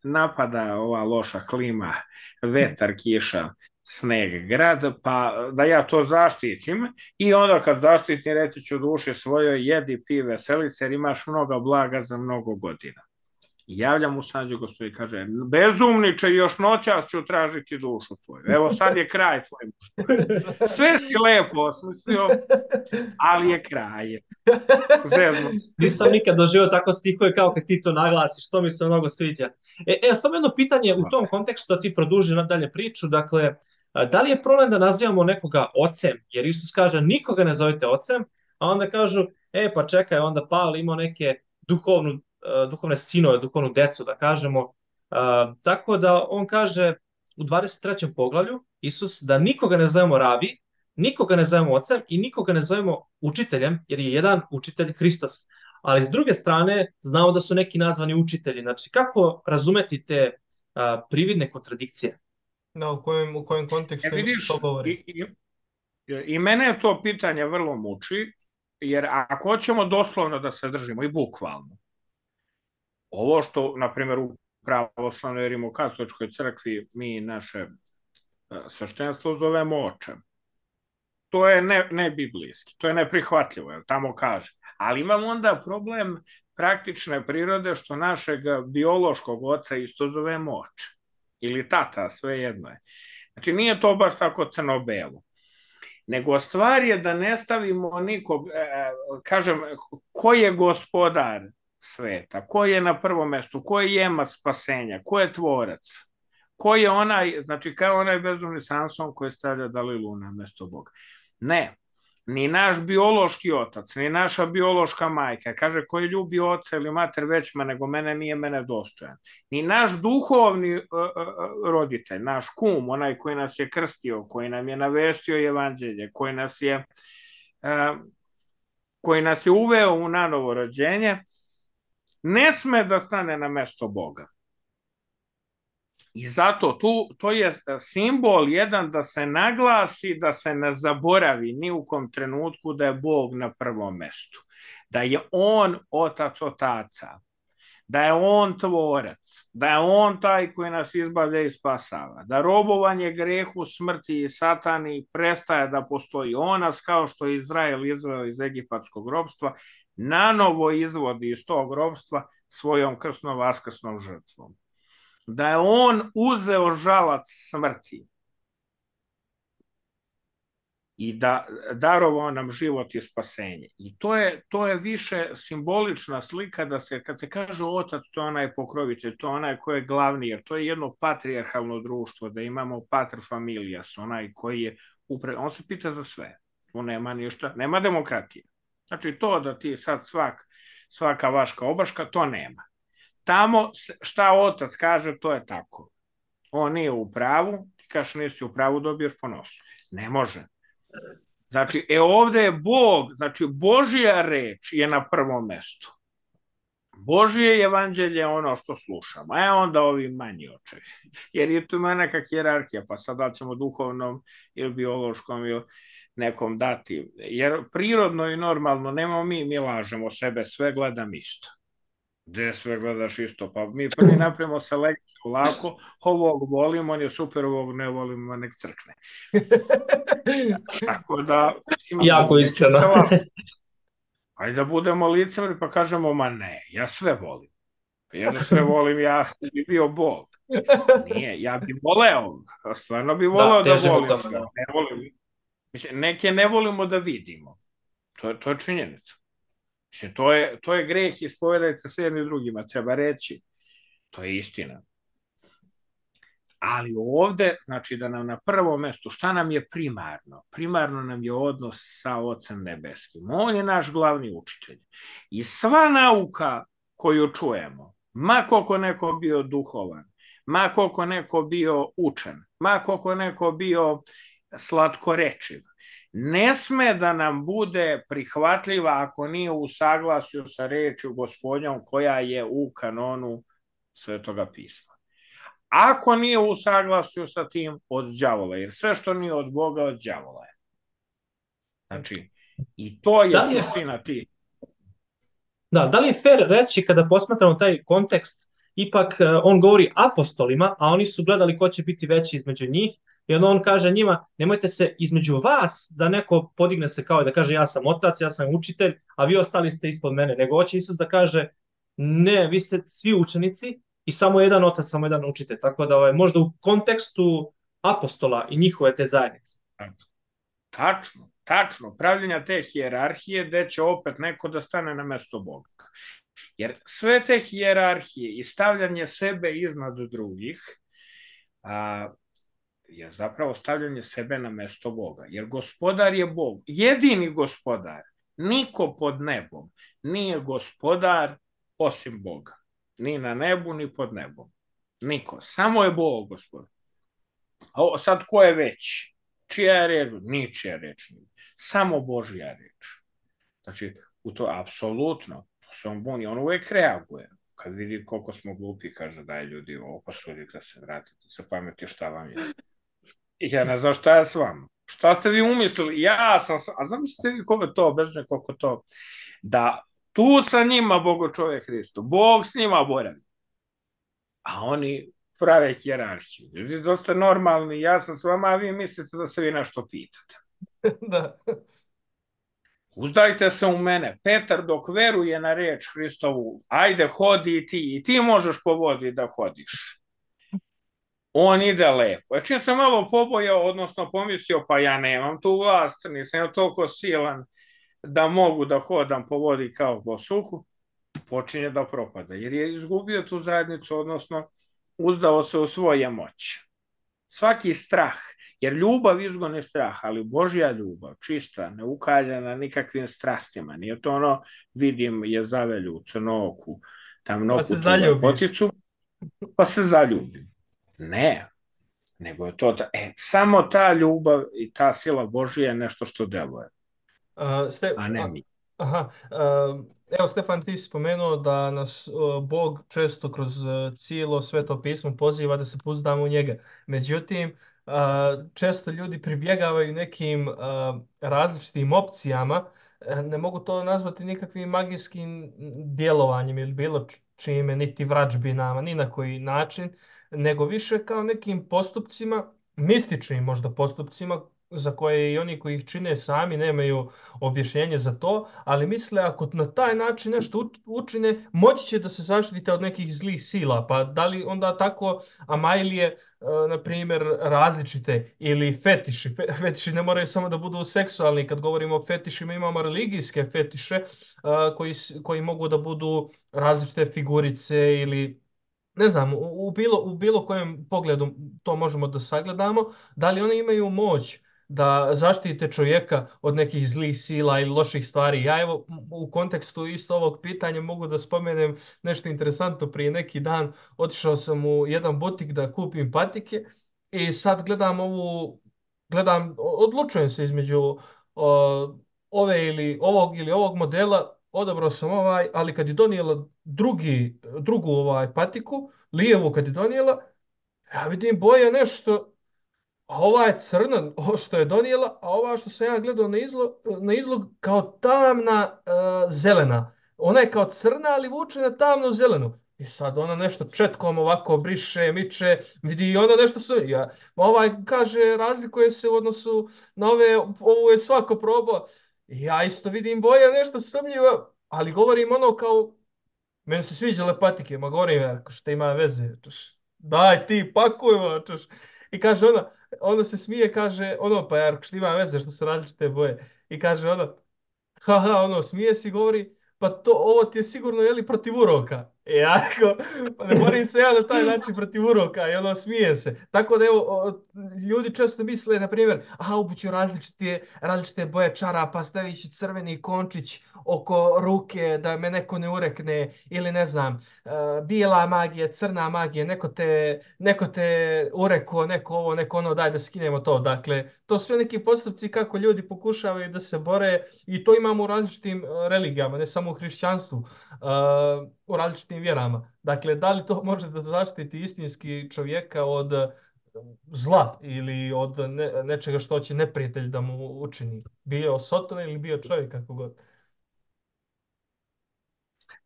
napada ova loša klima, vetar, kiša, sneg, grad, pa da ja to zaštitim. I onda kad zaštitim, reći ću duši svojoj, jedi, pi, veseli se, jer imaš mnogo blaga za mnogo godina. Javlja mu Sađe Gospodin i kaže, bezumniče, još noćas ću tražiti dušu tvoju. Evo sad je kraj tvoj. Sve si lepo osmislio, ali je kraj. Zezno. Nisam nikad doživio tako stihove kao kad ti to naglasiš, to mi se mnogo sviđa. E, e, samo jedno pitanje u tom kontekstu da ti produži nadalje priču, dakle, da li je problem da nazivamo nekoga ocem, jer Isus kaže nikoga ne zovete ocem, a onda kažu, e pa čekaj, onda Pavle imao neke duhovnu duhovne sinove, duhovnu decu, da kažemo. Uh, tako da on kaže u dvadeset trećem poglavlju, Isus, da nikoga ne zovemo rabi, nikoga ne zovemo ocem i nikoga ne zovemo učiteljem, jer je jedan učitelj Hristos. Ali s druge strane, znamo da su neki nazvani učitelji. Znači, kako razumeti te uh, prividne kontradikcije? Da, u kojem, u kojem kontekstu e, vidiš, to govori? I, i, I mene to pitanje vrlo muči, jer ako hoćemo doslovno da se držimo i bukvalno, ovo što, na primjer, u pravoslavnoj i rimokatoličkoj crkvi mi naše sveštenstvo zovemo očem. To je ne, ne biblijski, to je neprihvatljivo, jer tamo kaže, Ali imamo onda problem praktične prirode što našeg biološkog oca isto zovemo oče. Ili tata, sve jedno je. Znači nije to baš tako crno-belo. Nego stvar je da ne stavimo nikog, e, kažem, ko je gospodar sveta, ko je na prvom mestu, ko je jemac spasenja, ko je tvorac, ko je onaj, znači kao onaj bezumni Samson koji stavlja Dalilu na mesto Boga. Ne, ni naš biološki otac, ni naša biološka majka, kaže koji ljubi oca ili mater većma nego mene, nije mene dostojan. Ni naš duhovni uh, uh, roditelj, naš kum, onaj koji nas je krstio, koji nam je navestio evanđelje, koji nas je, uh, koji nas je uveo u nanovo rođenje, ne sme da stane na mesto Boga. I zato tu, to je simbol jedan da se naglasi, da se ne zaboravi ni u kom trenutku da je Bog na prvom mestu. Da je On otac otaca, da je On tvorac, da je On taj koji nas izbavlja i spasava, da robovanje grehu, smrti i satani prestaje da postoji. On nas, kao što je Izrael izveo iz egipatskog robstva, nanovo izvodi iz tog robstva svojom krsnom vaskrsnom žrtvom. Da je on uzeo žalac smrti i da darovao nam život i spasenje. I to je, to je više simbolična slika da se, kad se kaže otac, to je onaj pokrovitelj, to je onaj koji je glavni, jer to je jedno patrijarhalno društvo, da imamo pater familias, onaj koji je upre... on se pita za sve. Tu nema ništa, nema demokratije. Znači to da ti sad svak, svaka vaška obaška, to nema. Tamo šta otac kaže, to je tako. On nije u pravu, ti kažeš nisi u pravu, dobiješ po nosu. Ne može. Znači, e ovde je Bog, znači Božja reč je na prvom mestu. Božje evanđelje je ono što slušamo, a onda ovi manji očevi. Jer je tu ima neka hijerarhija, pa sad da ćemo duhovnom ili biološkom ili nekom dati. Jer prirodno i normalno, nemamo mi, mi lažemo sebe, sve gledam isto. Gde sve gledaš isto, pa mi prvi napravimo selekciju lako, ovog volim, on je super, ovog ne volim, nek crkne. Tako da... Jako iskreno. Ajde da budemo licemeri pa kažemo, ma ne, ja sve volim. Ja da sve volim, ja bi bio Bog. Nije, ja bi voleo, stvarno bi voleo da, da volim sve. Ne volim. Mislim, neke ne volimo da vidimo. To je, to je činjenica. Mislim, to je, to je greh, ispovedajte se jedni drugima, treba reći. To je istina. Ali ovde, znači da nam na prvom mestu, šta nam je primarno? Primarno nam je odnos sa Ocem Nebeskim. On je naš glavni učitelj. I sva nauka koju čujemo, ma koliko neko bio duhovan, ma koliko neko bio učen, ma koliko neko bio slatkorečiv, ne sme da nam bude prihvatljiva ako nije u saglasju sa rečju Gospodnjom koja je u kanonu Svetoga pisma. Ako nije u saglasju sa tim, od đavola, jer sve što nije od Boga, od đavola je. Znači, i to je, je suština ti. Da, da li je fair reći kada posmatramo taj kontekst, ipak on govori apostolima, a oni su gledali ko će biti veći između njih, i onda on kaže njima, nemojte se između vas da neko podigne se kao da kaže ja sam otac, ja sam učitelj, a vi ostali ste ispod mene, nego hoće Isus da kaže ne, vi ste svi učenici i samo jedan otac, samo jedan učitelj. Tako da ovaj, možda u kontekstu apostola i njihove te zajednice. Tačno, tačno. Pravljenja te hijerarhije gde će opet neko da stane na mesto Boga. Jer sve te hijerarhije i stavljanje sebe iznad drugih a, je zapravo stavljanje sebe na mesto Boga. Jer gospodar je Bog. Jedini gospodar, niko pod nebom, nije gospodar osim Boga. Ni na nebu, ni pod nebom. Niko. Samo je Bog gospodar. A sad ko je veći? Čija je reč? Ničija reč. Samo Božja reč. Znači, u to apsolutno, to se on buni, on uvek reaguje. Kad vidi koliko smo glupi, kaže daj ljudi, ovo posudite se, vratite se pameti šta vam je. I ja ne znam šta je s vama. Šta ste vi umislili? Ja sam, a zamislite vi koliko to, bez nekoliko to, da tu sa njima Bogo čovjek Hristo, Bog s njima boravi. A oni prave hijerarhiju. Ljudi dosta normalni, ja sam s vama, a vi mislite da se vi nešto pitate. Da. Uzdajte se u mene. Petar dok veruje na reč Hristovu, ajde hodi i ti, i ti možeš po vodi da hodiš. On ide lepo. Čim sam malo pobojao, odnosno pomislio, pa ja nemam tu vlast, nisam ja toliko silan da mogu da hodam po vodi kao po suhu, počinje da propada, jer je izgubio tu zajednicu, odnosno uzdao se u svoje moći. Svaki strah, jer ljubav izgoni strah, ali Božja ljubav, čista, neukaljena nikakvim strastima, nije to ono, vidim je zavelju, crnoku, tamnoku, lepoticu, pa se zaljubim. Ne, nego je to, e, samo ta ljubav i ta sila Božja je nešto što deluje, uh, ste, a ne mi. Aha, uh, evo Stefan, ti si spomenuo da nas uh, Bog često kroz uh, cijelo Sveto pismo poziva da se pouzdamo u njega. Međutim, uh, često ljudi pribjegavaju nekim uh, različitim opcijama, ne mogu to nazvati nikakvim magijskim djelovanjem ili bilo čime, niti vrađbinama, ni na koji način, nego više kao nekim postupcima, mističnim možda postupcima, za koje i oni koji ih čine sami nemaju objašnjenje za to, ali misle ako na taj način nešto učine, moći će da se zaštite od nekih zlih sila. Pa da li onda tako amajlije, na primjer, različite ili fetiši? Fetiši ne moraju samo da budu seksualni. Kad govorimo o fetišima, imamo religijske fetiše koji, koji mogu da budu različite figurice ili ne znam, u, u, bilo, u bilo kojem pogledu to možemo da sagledamo. Da li one imaju moć da zaštite čovjeka od nekih zlih sila ili loših stvari? Ja evo u kontekstu isto ovog pitanja mogu da spomenem nešto interesantno. Prije neki dan otišao sam u jedan butik da kupim patike i sad gledam ovu, gledam, odlučujem se između o, ove ili ovog ili ovog modela. Odabrao sam ovaj, ali kad je donijela drugi, drugu ovaj patiku, lijevu kad je donijela, ja vidim boja nešto, a ova je crna, ovo što je donijela, a ova što sam ja gledao na izlog, na izlog kao tamna uh, zelena. Ona je kao crna, ali vuče na tamnu zelenu. I sad ona nešto četkom ovako briše, miče, vidi i ona nešto sve. Ja, ovaj kaže, razlikuje se u odnosu na ove, ovo je svako probao. Ja isto vidim boja nešto sumnjivo, ali govorim ono kao, meni se sviđale patike, ma govorim, ako što ima veze, čuš, daj ti, pakuj, čuš. I kaže ona, ona se smije, kaže, ono, pa jer što ima veze, što su različite boje. I kaže ona, haha, ono, smije si, govori, pa to, ovo ti je sigurno, jeli, protiv uroka. I ja, pa ne moram se ja na taj način protiv uroka, i ono, smije se. Tako da, evo, ljudi često misle, na primjer, aha, obuću različite, različite boje čarapa, stavit ću crveni končić oko ruke da me neko ne urekne, ili ne znam, uh, bijela magija, crna magija, neko te, neko te ureko, neko ovo, neko ono, daj da skinemo to. Dakle, to su sve neki postupci kako ljudi pokušavaju da se bore i to imamo u različitim religijama, ne samo u hrišćanstvu, uh, u različitim vjerama. Dakle, da li to može da zaštiti istinski čovjeka od zla ili od ne, nečega što će neprijatelj da mu učini? Bio Sotona ili bio čovjek, kako god.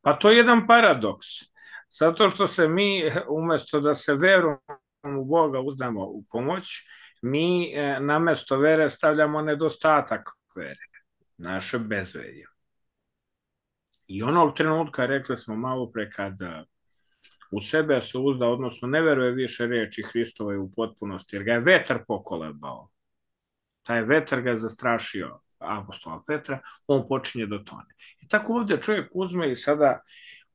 Pa to je jedan paradoks. Zato što se mi, umjesto da se verom u Boga uzdamo u pomoć, mi namjesto vere stavljamo nedostatak vere, naše bezverje. I onog trenutka, rekli smo malo pre, kada u sebe se uzda, odnosno ne veruje više reči Hristove u potpunosti, jer ga je vetar pokolebao. Taj vetar ga je zastrašio apostola Petra, on počinje da tone. I tako ovdje čovjek uzme i sada,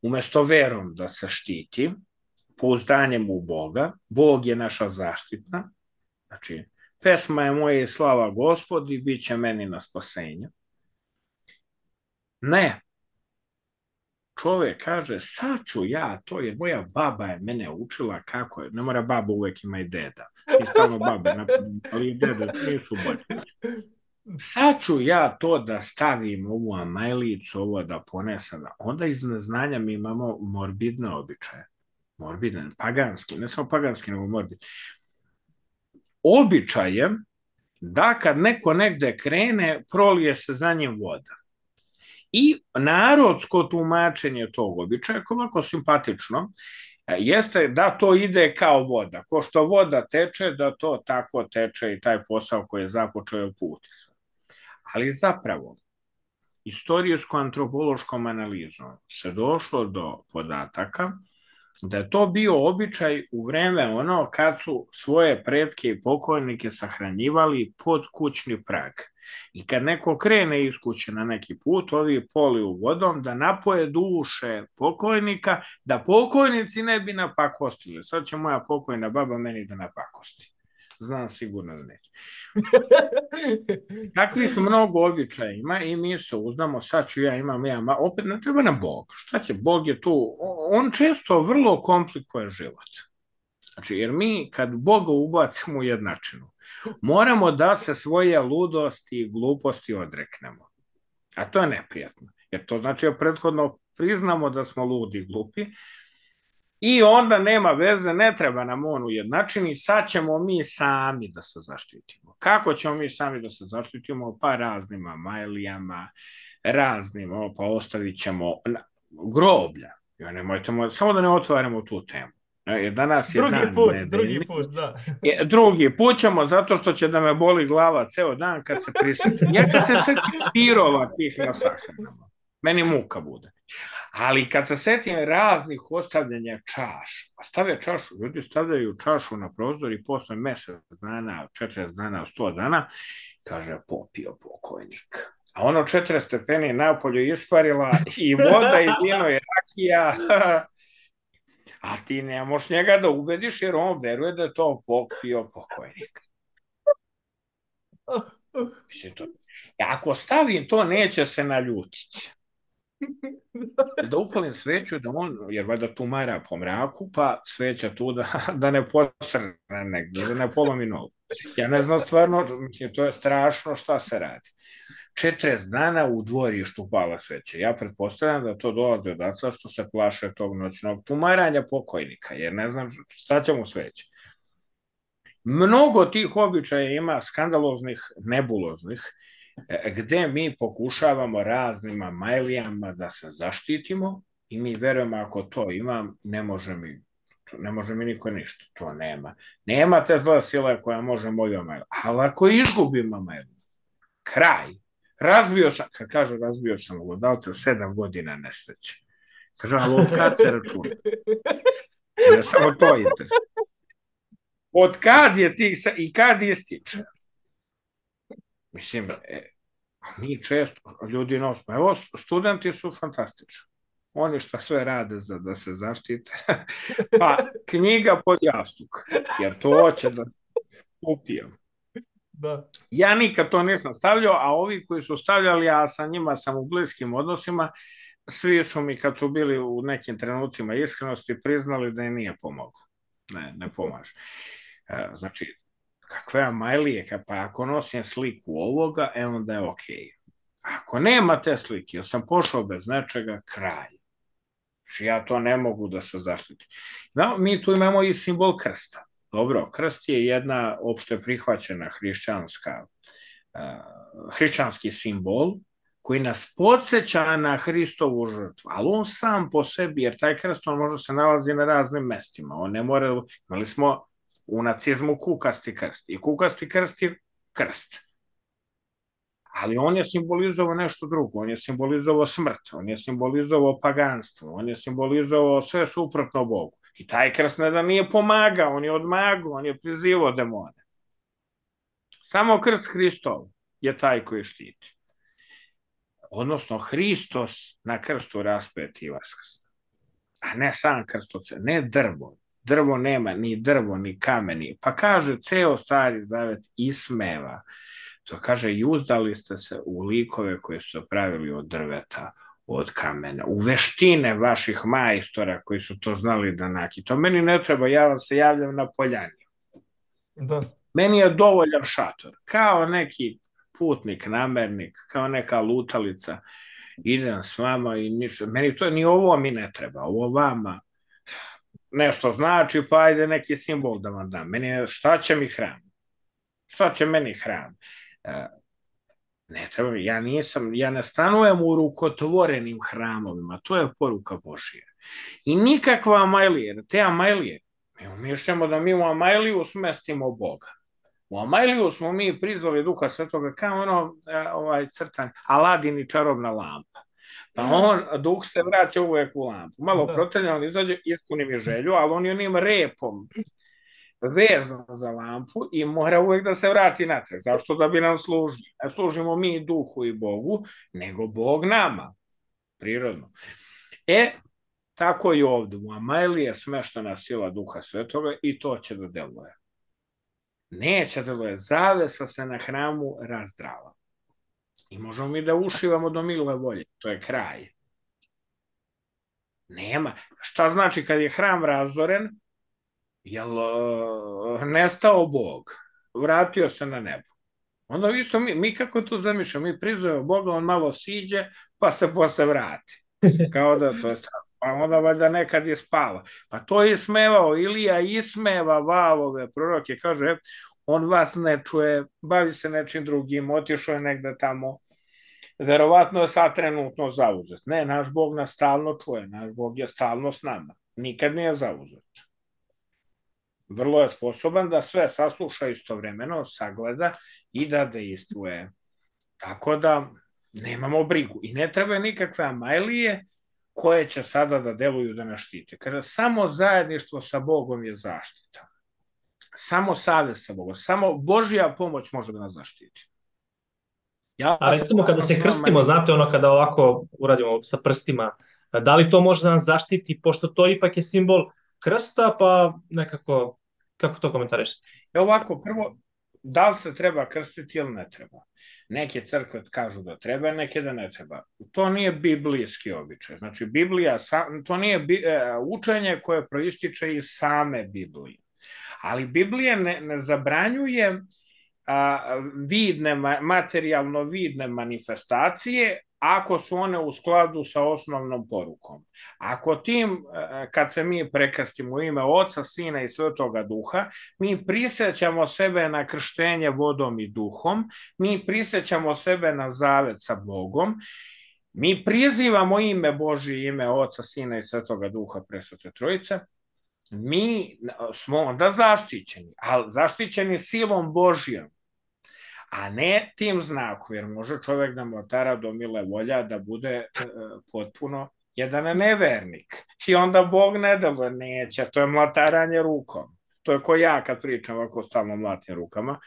umjesto verom da se štiti, pouzdanjem u Boga, Bog je naša zaštitna, znači, pesma je moja i slava Gospodi, bit će meni na spasenje. Ne. Čovjek kaže, sad ću ja to, jer moja baba je mene učila kako je, ne mora baba, uvek ima i deda, i stalno babe, ali i dede nisu bolje. Sad ću ja to da stavim ovu amajlicu, ovo da ponesam, onda iz neznanja mi imamo morbidne običaje, morbidne, paganski, ne samo paganski, nego morbidne. Običaje da kad neko negde krene, prolije se za njim voda. I narodsko tumačenje tog običaja, kao ovako simpatično, jeste da to ide kao voda. Ko što voda teče, da to tako teče i taj posao koji je započeo puti sve. Ali zapravo, istorijsko-antropološkom analizom se došlo do podataka da je to bio običaj u vreme ono kad su svoje pretke i pokojnike sahranjivali pod kućni prag. I kad neko krene iz kuće na neki put, ovi poliju vodom da napoje duše pokojnika, da pokojnici ne bi napakostili. Sad će moja pokojna baba meni da napakosti. Znam sigurno da neće. Takvih mnogo običaja ima i mi se uznamo, sad ću ja imam, ja, opet ne treba nam Bog. Šta će, Bog je tu, on često vrlo komplikuje život. Znači, jer mi kad Boga ubacimo u jednačinu, moramo da se svoje ludosti i gluposti odreknemo. A to je neprijatno, jer to znači da prethodno priznamo da smo ludi i glupi i onda nema veze, ne treba nam on ujednačeni, sad ćemo mi sami da se zaštitimo. Kako ćemo mi sami da se zaštitimo? Pa raznim amajlijama, raznim, pa ostavit ćemo groblja. Jo, nemojte, samo da ne otvaramo tu temu. Jer danas je drugi dan put, nedeljni. drugi put, da. Drugi put ćemo, zato što će da me boli glava ceo dan kad se prisjetim. Ja kad se setim pirova tih na sahranama, meni muka bude. Ali kad se setim raznih ostavljanja čaša, a stave čašu, ljudi stavljaju čašu na prozor i posle mesec dana, četrdeset dana, sto dana, kaže popio pokojnik. A ono četrdeset stepeni napolju isparila i voda i vino i rakija. A ti ne možeš njega da ubediš jer on veruje da je to popio pokojnik. Mislim, to... Ako stavim to, neće se naljutiti. Da upalim sveću, da on, jer valjda tumara po mraku, pa sveća tu da, da ne posrne negdje, da ne polomi nogu. Ja ne znam stvarno, mislim, to je strašno šta se radi. četrdeset dana u dvorištu pala sveća. Ja pretpostavljam da to dolazi odatle što se plaše tog noćnog tumaranja pokojnika, jer ne znam šta će mu sveća. Mnogo tih običaja ima skandaloznih, nebuloznih, gde mi pokušavamo raznim amajlijama da se zaštitimo i mi verujemo ako to imam, ne može mi, ne može mi niko ništa, to nema. Nema te zla sila koja može moju amajliju, ali ako izgubim amajliju, kraj. Razbio sam, kad kaže razbio sam glodavca, sedam godina nesreće. Kaže, ali od kad se računa? Ne samo to interesuje. Od kad je tih, i kad ističe? Mislim, e, mi često, ljudi nosimo, evo, studenti su fantastični. Oni šta sve rade za da se zaštite. Pa, knjiga pod jastuk, jer to hoće da upijem. Da. Ja nikad to nisam stavljao, a ovi koji su stavljali, ja sa njima sam u bliskim odnosima, svi su mi kad su bili u nekim trenucima iskrenosti priznali da je nije pomoglo. Ne, ne pomaže. Znači, kakve amajlije, pa ako nosim sliku ovoga, e onda je okej. Ako nema te slike, jer sam pošao bez nečega, kraj. Znači, ja to ne mogu da se zaštitim. No, mi tu imamo i simbol krsta. Dobro, krst je jedna opšte prihvaćena hrišćanska, uh, hrišćanski simbol koji nas podsjeća na Hristovu žrtvu, ali on sam po sebi, jer taj krst on može se nalazi na raznim mestima. On ne mora, imali smo u nacizmu kukasti krst i kukasti krst je krst. Ali on je simbolizovao nešto drugo, on je simbolizovao smrt, on je simbolizovao paganstvo, on je simbolizovao sve suprotno Bogu. I taj krst ne da nije pomagao, on je odmagao, on je prizivao demone. Samo krst Hristov je taj koji štiti. Odnosno, Hristos na krstu raspeti i vaskrsta. A ne sam krstoce, ne drvo. Drvo nema ni drvo, ni kameni. Pa kaže, ceo Stari Zavet ismeva. To kaže, i uzdali ste se u likove koje su pravili od drveta, od kamena, u veštine vaših majstora koji su to znali da naki. To meni ne treba, ja vam se javljam na poljani. Da. Meni je dovoljan šator, kao neki putnik, namernik, kao neka lutalica, idem s vama i ništa. Meni to, ni ovo mi ne treba, ovo vama nešto znači, pa ajde neki simbol da vam dam. Meni je, šta će mi hram? Šta će meni hram? Ne treba, ja nisam, ja ne stanujem u rukotvorenim hramovima, to je poruka Božija. I nikakva amajlija, te amajlije, mi umišljamo da mi u amajliju smestimo Boga. U Amajliju smo mi prizvali Duha Svetoga kao ono ovaj crtan Aladin i čarobna lampa. Pa on, duh se vraća uvek u lampu. Malo protrlja, on izađe, ispuni mi želju, ali on je onim repom vezan za lampu i mora uvek da se vrati natrag. Zašto? Da bi nam služili. Ne služimo mi duhu i Bogu, nego Bog nama. Prirodno. E, tako i ovdje. U Amajliji je smeštena sila Duha Svetoga i to će da deluje. Neće da deluje. Zavesa se na hramu razdrala. I možemo mi da ušivamo do milove volje. To je kraj. Nema. Šta znači kad je hram razoren? Jel uh, nestao Bog? Vratio se na nebo. Onda isto mi, mi kako tu zamišljamo, mi prizovemo Boga, on malo siđe, pa se posle vrati. Kao da to je strano. Pa onda valjda nekad je spava. Pa to je ismevao, Ilija ismeva valove proroke, kaže, on vas ne čuje, bavi se nečim drugim, otišao je negde tamo, verovatno je sad trenutno zauzet. Ne, naš Bog nas stalno čuje, naš Bog je stalno s nama, nikad nije zauzet. Vrlo je sposoban da sve sasluša istovremeno, sagleda i da dejstvuje. Tako da nemamo brigu. I ne treba nikakve Amajlije koje će sada da deluju da nas štite. Kaže, samo zajedništvo sa Bogom je zaštita. Samo savez sa Bogom. Samo Božja pomoć može da nas zaštiti. Ja A recimo kada se krstimo, znate ono kada ovako uradimo sa prstima, da li to može da nas zaštiti, pošto to ipak je simbol krsta, pa nekako, kako to komentarišete? E ovako, prvo, da li se treba krstiti ili ne treba? Neke crkve kažu da treba, neke da ne treba. To nije biblijski običaj. Znači, Biblija, to nije učenje koje proističe iz same Biblije. Ali Biblija ne, ne zabranjuje a, vidne, materijalno vidne manifestacije ako su one u skladu sa osnovnom porukom. Ako tim, kad se mi prekrstimo u ime Oca, Sina i Svetoga Duha, mi prisjećamo sebe na krštenje vodom i duhom, mi prisjećamo sebe na zavet sa Bogom, mi prizivamo ime Božje, ime Oca, Sina i Svetoga Duha, Presvete Trojice, mi smo onda zaštićeni, ali zaštićeni silom Božjom, a ne tim znakom, jer može čovjek da mlatara do mile volja da bude e, potpuno jedan nevernik. I onda Bog ne deluje, neće, to je mlataranje rukom. To je ko ja kad pričam ovako stalno mlatim rukama.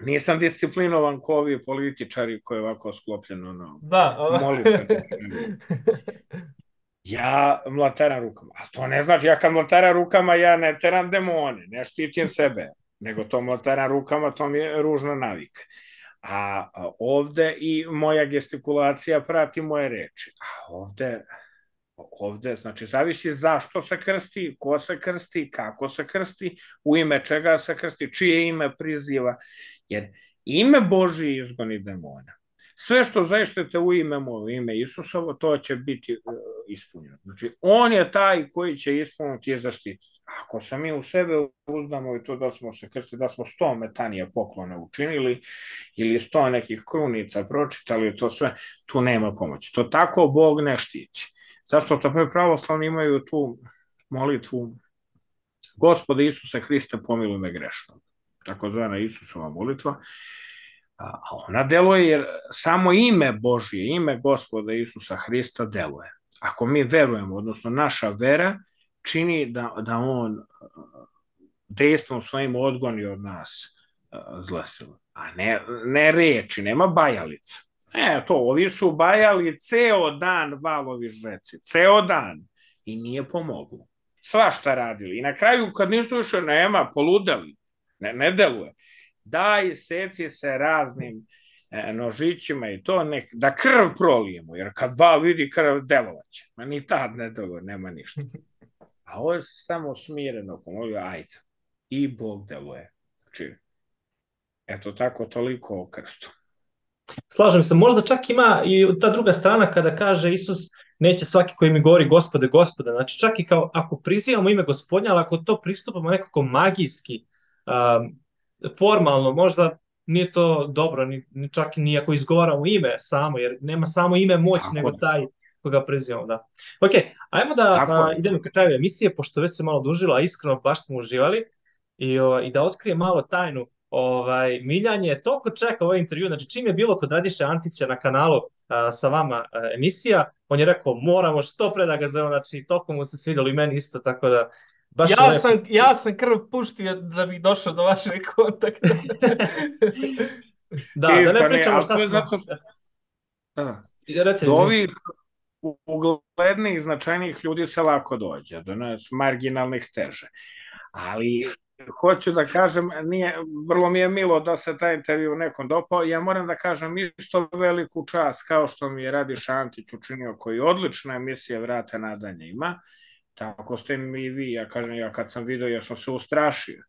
Nisam disciplinovan ko ovi političari koji je ovako sklopljeno na da, molitve. Ja mlataram rukama, a to ne znači, ja kad mlataram rukama, ja ne teram demone, ne štitim sebe, nego to mlataram rukama, to mi je ružna navika. A ovde i moja gestikulacija prati moje reči. A ovde, ovde, znači, zavisi zašto se krsti, ko se krsti, kako se krsti, u ime čega se krsti, čije ime priziva, jer ime Božije izgoni demona. Sve što zaštite u ime moje, u ime Isusovo, to će biti uh, ispunjeno. Znači, on je taj koji će ispuniti i zaštititi. Ako se mi u sebe uzdamo i to da smo se krstili, da smo sto metanija poklona učinili ili sto nekih krunica pročitali, to sve, tu nema pomoći. To tako Bog ne štiti. Zašto to pravoslavni imaju tu molitvu Gospode Isuse Hriste, pomiluj me grešnog. Takozvana Isusova molitva. A ona deluje jer samo ime Božje, ime Gospoda Isusa Hrista deluje. Ako mi verujemo, odnosno naša vera čini da, da on dejstvom svojim odgoni od nas zle sile. A ne, ne reči, nema bajalica. E, to, ovi su bajali ceo dan valovi žreci, ceo dan. I nije pomoglo. Svašta radili. I na kraju kad nisu više, nema, poludeli. Ne, ne deluje. Daj, seci se raznim e, nožićima i to, nek, da krv prolijemo, jer kad val vidi krv, delovaće. Ma ni tad ne deluje, nema ništa. A ovo je samo smireno, pomolio, ajde. I Bog deluje. Znači, eto tako, toliko o krstu. Slažem se, možda čak ima i ta druga strana kada kaže Isus neće svaki koji mi govori Gospode, Gospode. Znači čak i kao ako prizivamo ime Gospodnja, ali ako to pristupamo nekako magijski, um, formalno, možda nije to dobro, ni, ni čak ni ako izgovaramo ime samo, jer nema samo ime moć, tako nego taj koga prizivamo, da. Ok, ajmo da a, idemo ka kraju emisije, pošto već se malo dužilo, a iskreno baš smo uživali. i, o, i da otkrije malo tajnu. Ovaj, Miljan je toliko čekao ovaj intervju, znači čim je bilo kod Radiše Antića na kanalu a, sa vama a, emisija, on je rekao moramo što pre da ga zovemo, znači toliko mu se svidjelo i meni isto, tako da baš je Ja lepo. sam, ja sam krv puštio da bih došao do vašeg kontakta. Da, I, da ne pa ne, pričamo ali šta to je smo... zato što, da, Reci, do izvini. ovih u- uglednih, značajnijih ljudi se lako dođe, do nas marginalnih teže. Ali hoću da kažem, nije, vrlo mi je milo da se taj intervju nekom dopao. Ja moram da kažem isto veliku čast kao što mi je Radiša Antić učinio, koji odlična emisija Vrata nadanje ima. Tako ste mi i vi, ja kažem, ja kad sam video, ja sam se ustrašio.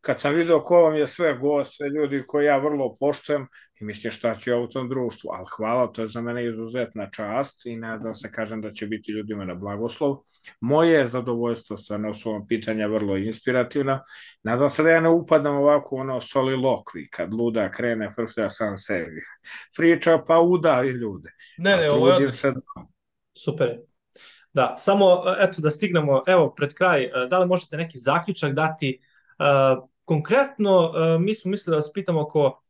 Kad sam video ko vam je sve gost, sve ljudi koje ja vrlo poštujem, i mislim šta ću ja u tom društvu, ali hvala, to je za mene izuzetna čast i nadam se, kažem, da će biti ljudima na blagoslov. Moje je zadovoljstvo, stvarno su vam pitanja vrlo inspirativna. Nadam se da ja ne upadam ovako ono solilokvi, kad luda krene frflja sam sebi. Priča pa udavi ljude. Ne, ne, A ovo je trudim odlično. se... Super je. Da, samo eto da stignemo, evo pred kraj, e, da li možete neki zaključak dati? E, Konkretno, e, mi smo mislili da vas pitamo oko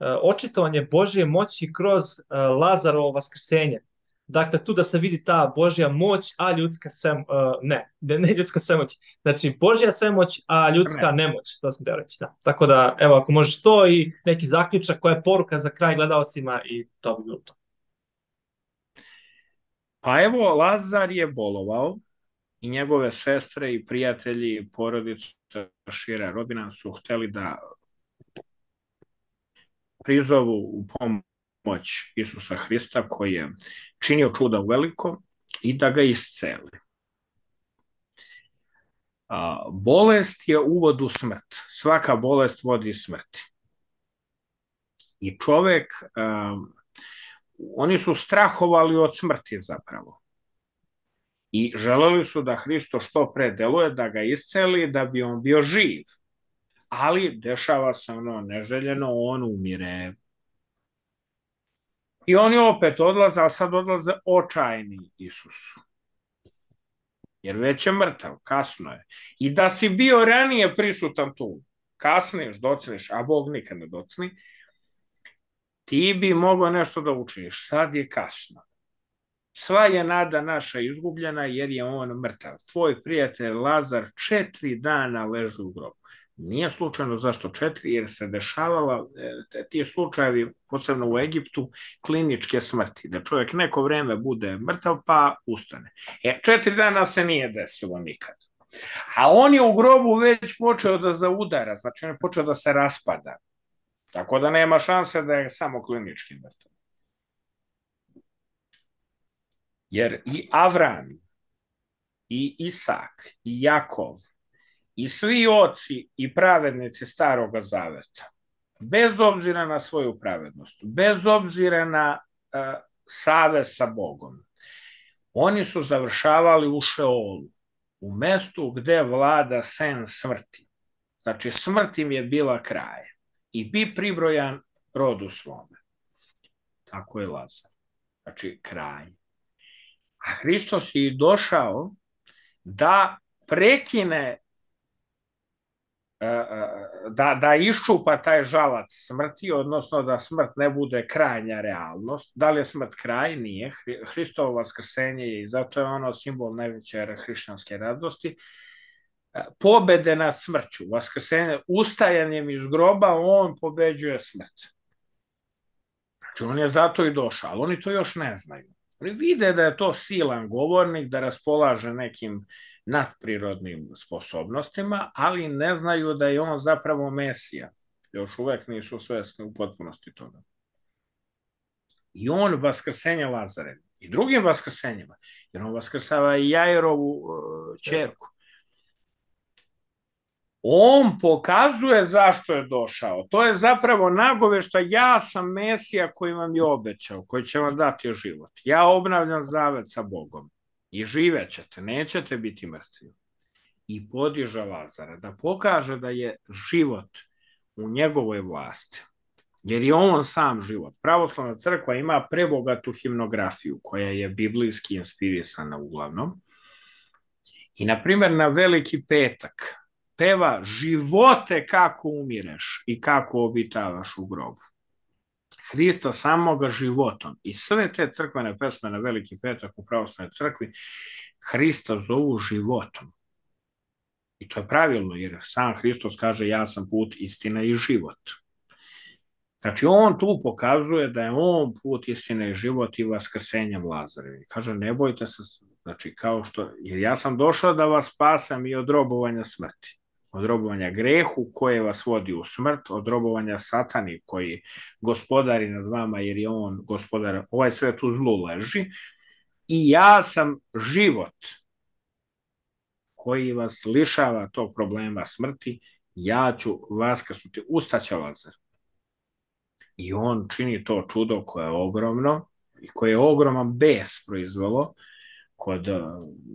e, očitovanje Božje moći kroz e, Lazarovo vaskrsenje. Dakle, tu da se vidi ta Božja moć, a ljudska sem, e, ne, ne, ne ljudska svemoć. Znači, Božja svemoć, a ljudska Ne. nemoć, to sam teo reći, da. Tako da, evo, ako možeš to i neki zaključak, koja je poruka za kraj gledalcima i to bi bilo to. Pa evo, Lazar je bolovao i njegove sestre i prijatelji i porodice šira rodbina su hteli da prizovu u pomoć Isusa Hrista koji je činio čuda u veliko i da ga isceli. A, bolest je uvod u smrt. Svaka bolest vodi smrti. I čovek, a, oni su strahovali od smrti zapravo. I želeli su da Hristo što pre deluje, da ga isceli, da bi on bio živ. Ali dešava se ono neželjeno, on umire. I oni opet odlaze, ali sad odlaze očajni Isusu. Jer već je mrtav, kasno je. I da si bio ranije prisutan tu, kasniš, docniš, a Bog nikad ne docni, ti bi mogao nešto da učiniš. Sad je kasno. Sva je nada naša izgubljena jer je on mrtav. Tvoj prijatelj Lazar četiri dana leži u grobu. Nije slučajno zašto četiri, jer se dešavala ti slučajevi, posebno u Egiptu, kliničke smrti, da čovjek neko vreme bude mrtav pa ustane. E, četiri dana se nije desilo nikad. A on je u grobu već počeo da zaudara, znači on je počeo da se raspada. Tako da nema šanse da je samo klinički mrtav. Jer i Avram, i Isak, i Jakov, i svi oci i pravednici Staroga Zaveta, bez obzira na svoju pravednost, bez obzira na uh, savez sa Bogom, oni su završavali u Šeolu, u mestu gde vlada sen smrti. Znači, smrt im je bila kraj i bi pribrojan rodu svome. Tako je Lazar. Znači, kraj. A Hristos je došao da prekine, da, da iščupa taj žalac smrti, odnosno da smrt ne bude krajnja realnost. Da li je smrt kraj? Nije. Hristovo vaskrsenje je i zato je ono simbol najveće hrišćanske radosti. Pobede nad smrću, vaskrsenje, ustajanjem iz groba, on pobeđuje smrt. Znači, on je zato i došao, ali oni to još ne znaju. Oni vide da je to silan govornik, da raspolaže nekim nadprirodnim sposobnostima, ali ne znaju da je on zapravo Mesija. Još uvek nisu svesni u potpunosti toga. I on vaskrsenja Lazare i drugim vaskrsenjima, jer on vaskrsava i Jairovu uh, ćerku. On pokazuje zašto je došao. To je zapravo nagovešta, ja sam Mesija koji vam je obećao, koji će vam dati život. Ja obnavljam zavet sa Bogom i živećete, nećete biti mrtvi. I podiže Lazara da pokaže da je život u njegovoj vlasti. Jer je on sam život. Pravoslavna crkva ima prebogatu himnografiju koja je biblijski inspirisana uglavnom. I na primjer na Veliki petak peva živote kako umireš i kako obitavaš u grobu. Hrista samoga životom. I sve te crkvene pesme na Veliki petak u pravoslavnoj crkvi Hrista zovu životom. I to je pravilno, jer sam Hristos kaže ja sam put, istina i život. Znači, on tu pokazuje da je on put, istina i život i vaskrsenjem Lazarevi. Kaže, ne bojte se, znači, kao što, jer ja sam došao da vas spasam i od robovanja smrti. Od robovanja grehu koje vas vodi u smrt, od robovanja satani koji gospodari nad vama jer je on gospodar, ovaj svet u zlu leži. I ja sam život koji vas lišava tog problema smrti, ja ću vaskrsnuti, ustaće Lazar. I on čini to čudo koje je ogromno i koje je ogroman bes proizvelo kod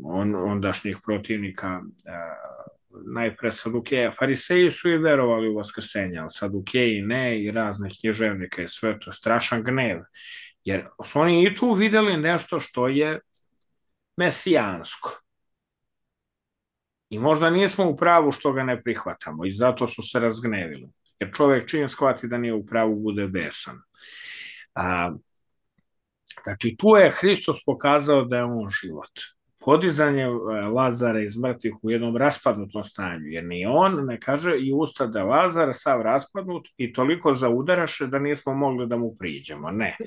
on, ondašnjih protivnika, najpre Sadukeja. Fariseji su i verovali u vaskrsenje, ali Sadukeji ne i razne književnike i sve to, strašan gnev. Jer su oni i tu videli nešto što je mesijansko. I možda nismo u pravu što ga ne prihvatamo i zato su se razgnevili. Jer čovjek čim shvati da nije u pravu bude besan. A, znači tu je Hristos pokazao da je on život. Podizanje Lazara iz mrtvih u jednom raspadnutom stanju, jer ni on ne kaže i usta da Lazar sav raspadnut i toliko zaudaraše da nismo mogli da mu priđemo, ne.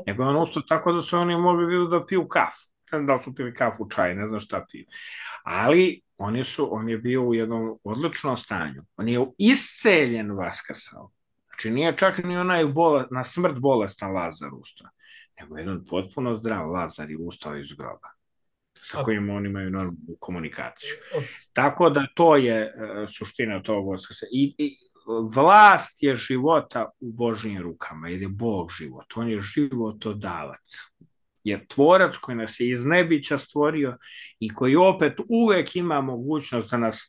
Nego on ustao tako da su oni mogli da piju kafu. Da su pili kafu, čaj, ne znam šta piju. Ali oni su, on je bio u jednom odličnom stanju. On je isceljen vaskrsao. Znači nije čak ni onaj bola, na smrt bolestan Lazar ustao, nego jedan potpuno zdrav Lazar je ustao iz groba, sa kojim oni imaju normalnu komunikaciju. Tako da to je uh, suština tog vaskrsa. I, I vlast je života u Božjim rukama, jer je Bog život. On je životodavac. Jer tvorac koji nas je iz nebića stvorio i koji opet uvek ima mogućnost da nas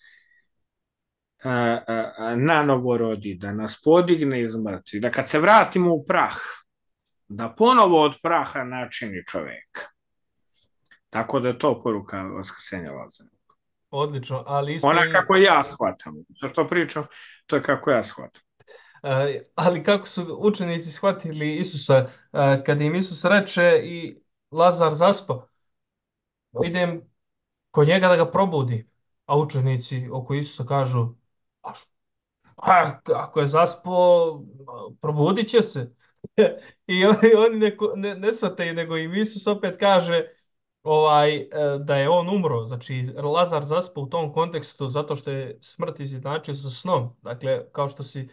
uh, uh, nanovo rodi, da nas podigne iz mrtvih, da kad se vratimo u prah, da ponovo od praha načini čoveka. Tako da je to poruka vaskrsenja Lazara. Odlično, ali isto... Ona kako ja shvatam. Za što pričam, to je kako ja shvatam. Uh, ali kako su učenici shvatili Isusa, uh, kad im Isus reče i Lazar zaspa, idem kod njega da ga probudi, a učenici oko Isusa kažu, a, a ako je zaspao, probudit će se. I oni, oni ne, ne, ne shvataju, nego im Isus opet kaže ovaj, da je on umro. Znači, Lazar zaspa u tom kontekstu zato što je smrt izjednačio sa snom. Dakle, kao što si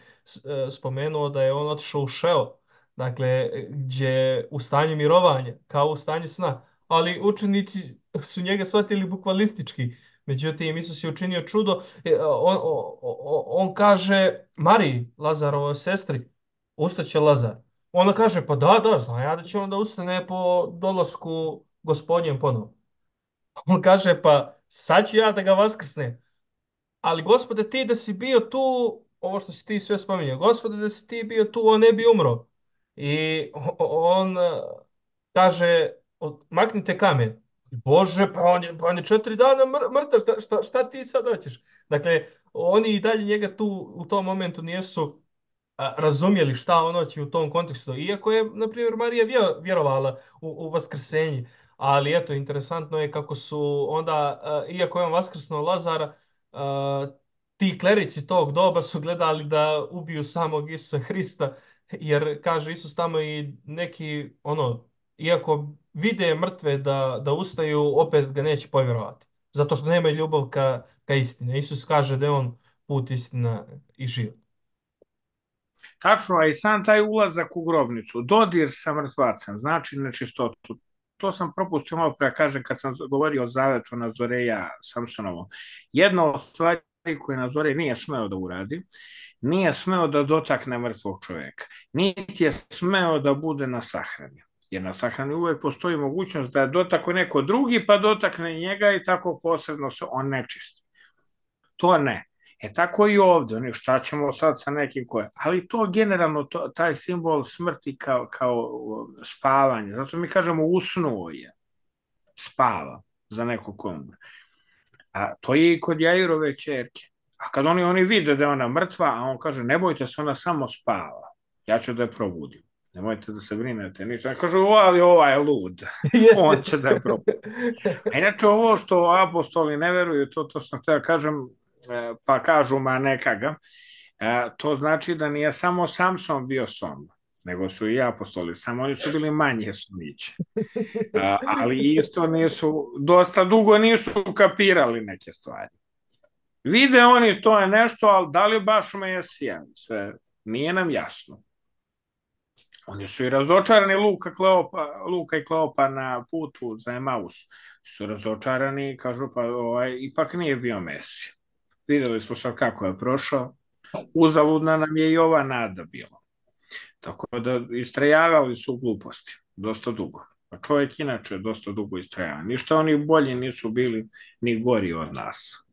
spomenuo da je on otišao u Šeo, dakle, gdje u stanju mirovanja, kao u stanju sna. Ali učenici su njega shvatili bukvalistički. Međutim, Isus je učinio čudo. On, on, on kaže Mariji, Lazarovoj sestri, ustaće Lazar. Ona kaže, pa da, da, znam ja da će onda ustane po dolasku Gospodnjem ponovo. On kaže, pa sad ću ja da ga vaskrsnem. Ali Gospode, ti da si bio tu, ovo što si ti sve spominjao, Gospode, da si ti bio tu, on ne bi umro. I on kaže, maknite kamen. Bože, pa on je, pa on je četiri dana mrtav, šta, šta, šta ti sad hoćeš? Dakle, oni i dalje njega tu u tom momentu nijesu razumjeli šta on hoće u tom kontekstu. Iako je, na primjer, Marija vjerovala u, u vaskrsenje. Ali eto, interesantno je kako su onda, uh, iako je on vaskrsnuo Lazara, uh, ti klerici tog doba su gledali da ubiju samog Isusa Hrista, jer kaže Isus tamo i neki, ono, iako vide mrtve da, da ustaju, opet ga neće povjerovati. Zato što nema ljubav ka, ka istine. Isus kaže da je on put, istina i život. Tačno, a i sam taj ulazak u grobnicu, dodir sa mrtvacem, znači nečistotu. To sam propustio malo pre kažem kad sam govorio o zavetu Nazoreja Samsonovom. Jedna od stvari koje Nazorej nije smeo da uradi, nije smeo da dotakne mrtvog čovjeka, niti je smeo da bude na sahrani. Jer na sahrani uvijek postoji mogućnost da dotakne neko drugi pa dotakne njega i tako posebno se on nečisti. To ne. E tako i ovdje, šta ćemo sad sa nekim koje, ali to generalno, to, taj simbol smrti kao, kao spavanje, zato mi kažemo usnuo je, spava za nekog ko umre. A to je i kod Jairove ćerke. A kad oni, oni vide da je ona mrtva, a on kaže, ne bojte se, ona samo spava. Ja ću da je probudim. Nemojte da se brinete ništa. Kažu, ali ova je lud. On će da je probudi. A inače, ovo što apostoli ne veruju, to, to sam htio da kažem, pa kažu, ma neka ga, to znači da nije samo Samson bio som, nego su i apostoli, samo oni su bili manje somići. Ali isto nisu, dosta dugo nisu kapirali neke stvari. Vide oni to je nešto, ali da li baš Mesija? Sve nije nam jasno. Oni su i razočarani, Luka, Kleopa, Luka i Kleopa na putu za Emaus su razočarani i kažu pa ovaj, ipak nije bio Mesija. Videli smo sad kako je prošao, uzaludna nam je i ova nada bila. Tako da istrajavali su gluposti, dosta dugo. A čovjek inače je dosta dugo istrajava. Ništa oni bolji nisu bili ni gori od nas.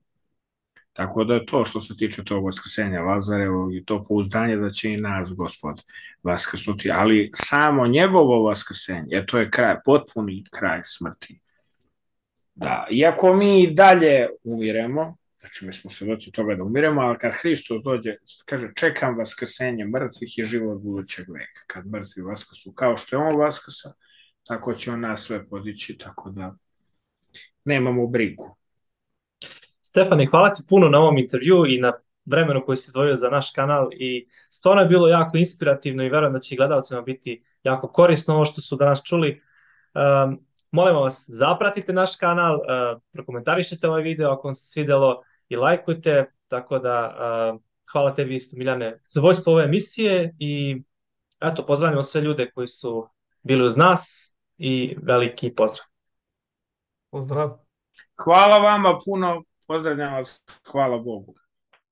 Tako da je to što se tiče tog vaskrsenja Lazarevog i to pouzdanje da će i nas Gospod vaskrsnuti, ali samo njegovo vaskrsenje, jer to je kraj, potpuni kraj smrti. Da, iako mi dalje umiremo, znači mi smo se doći toga da umiremo, ali kad Hristos dođe, kaže čekam vaskrsenje mrtvih i život budućeg veka, kad mrtvi vaskrsu, kao što je on vaskrsa, tako će on nas sve podići, tako da nemamo brigu. Stefane, hvala ti puno na ovom intervju i na vremenu koji si izdvojio za naš kanal i stvarno je bilo jako inspirativno i verujem da će i gledalcima biti jako korisno ovo što su danas čuli. Um, molimo vas, zapratite naš kanal, uh, prokomentarišite ovaj video ako vam se svidelo i lajkujte, tako da uh, hvala tebi isto Miljane za vojstvo ove emisije i eto, pozdravljamo sve ljude koji su bili uz nas i veliki pozdrav. Pozdrav. Hvala vama puno. Pozdravljam vas, hvala Bogu.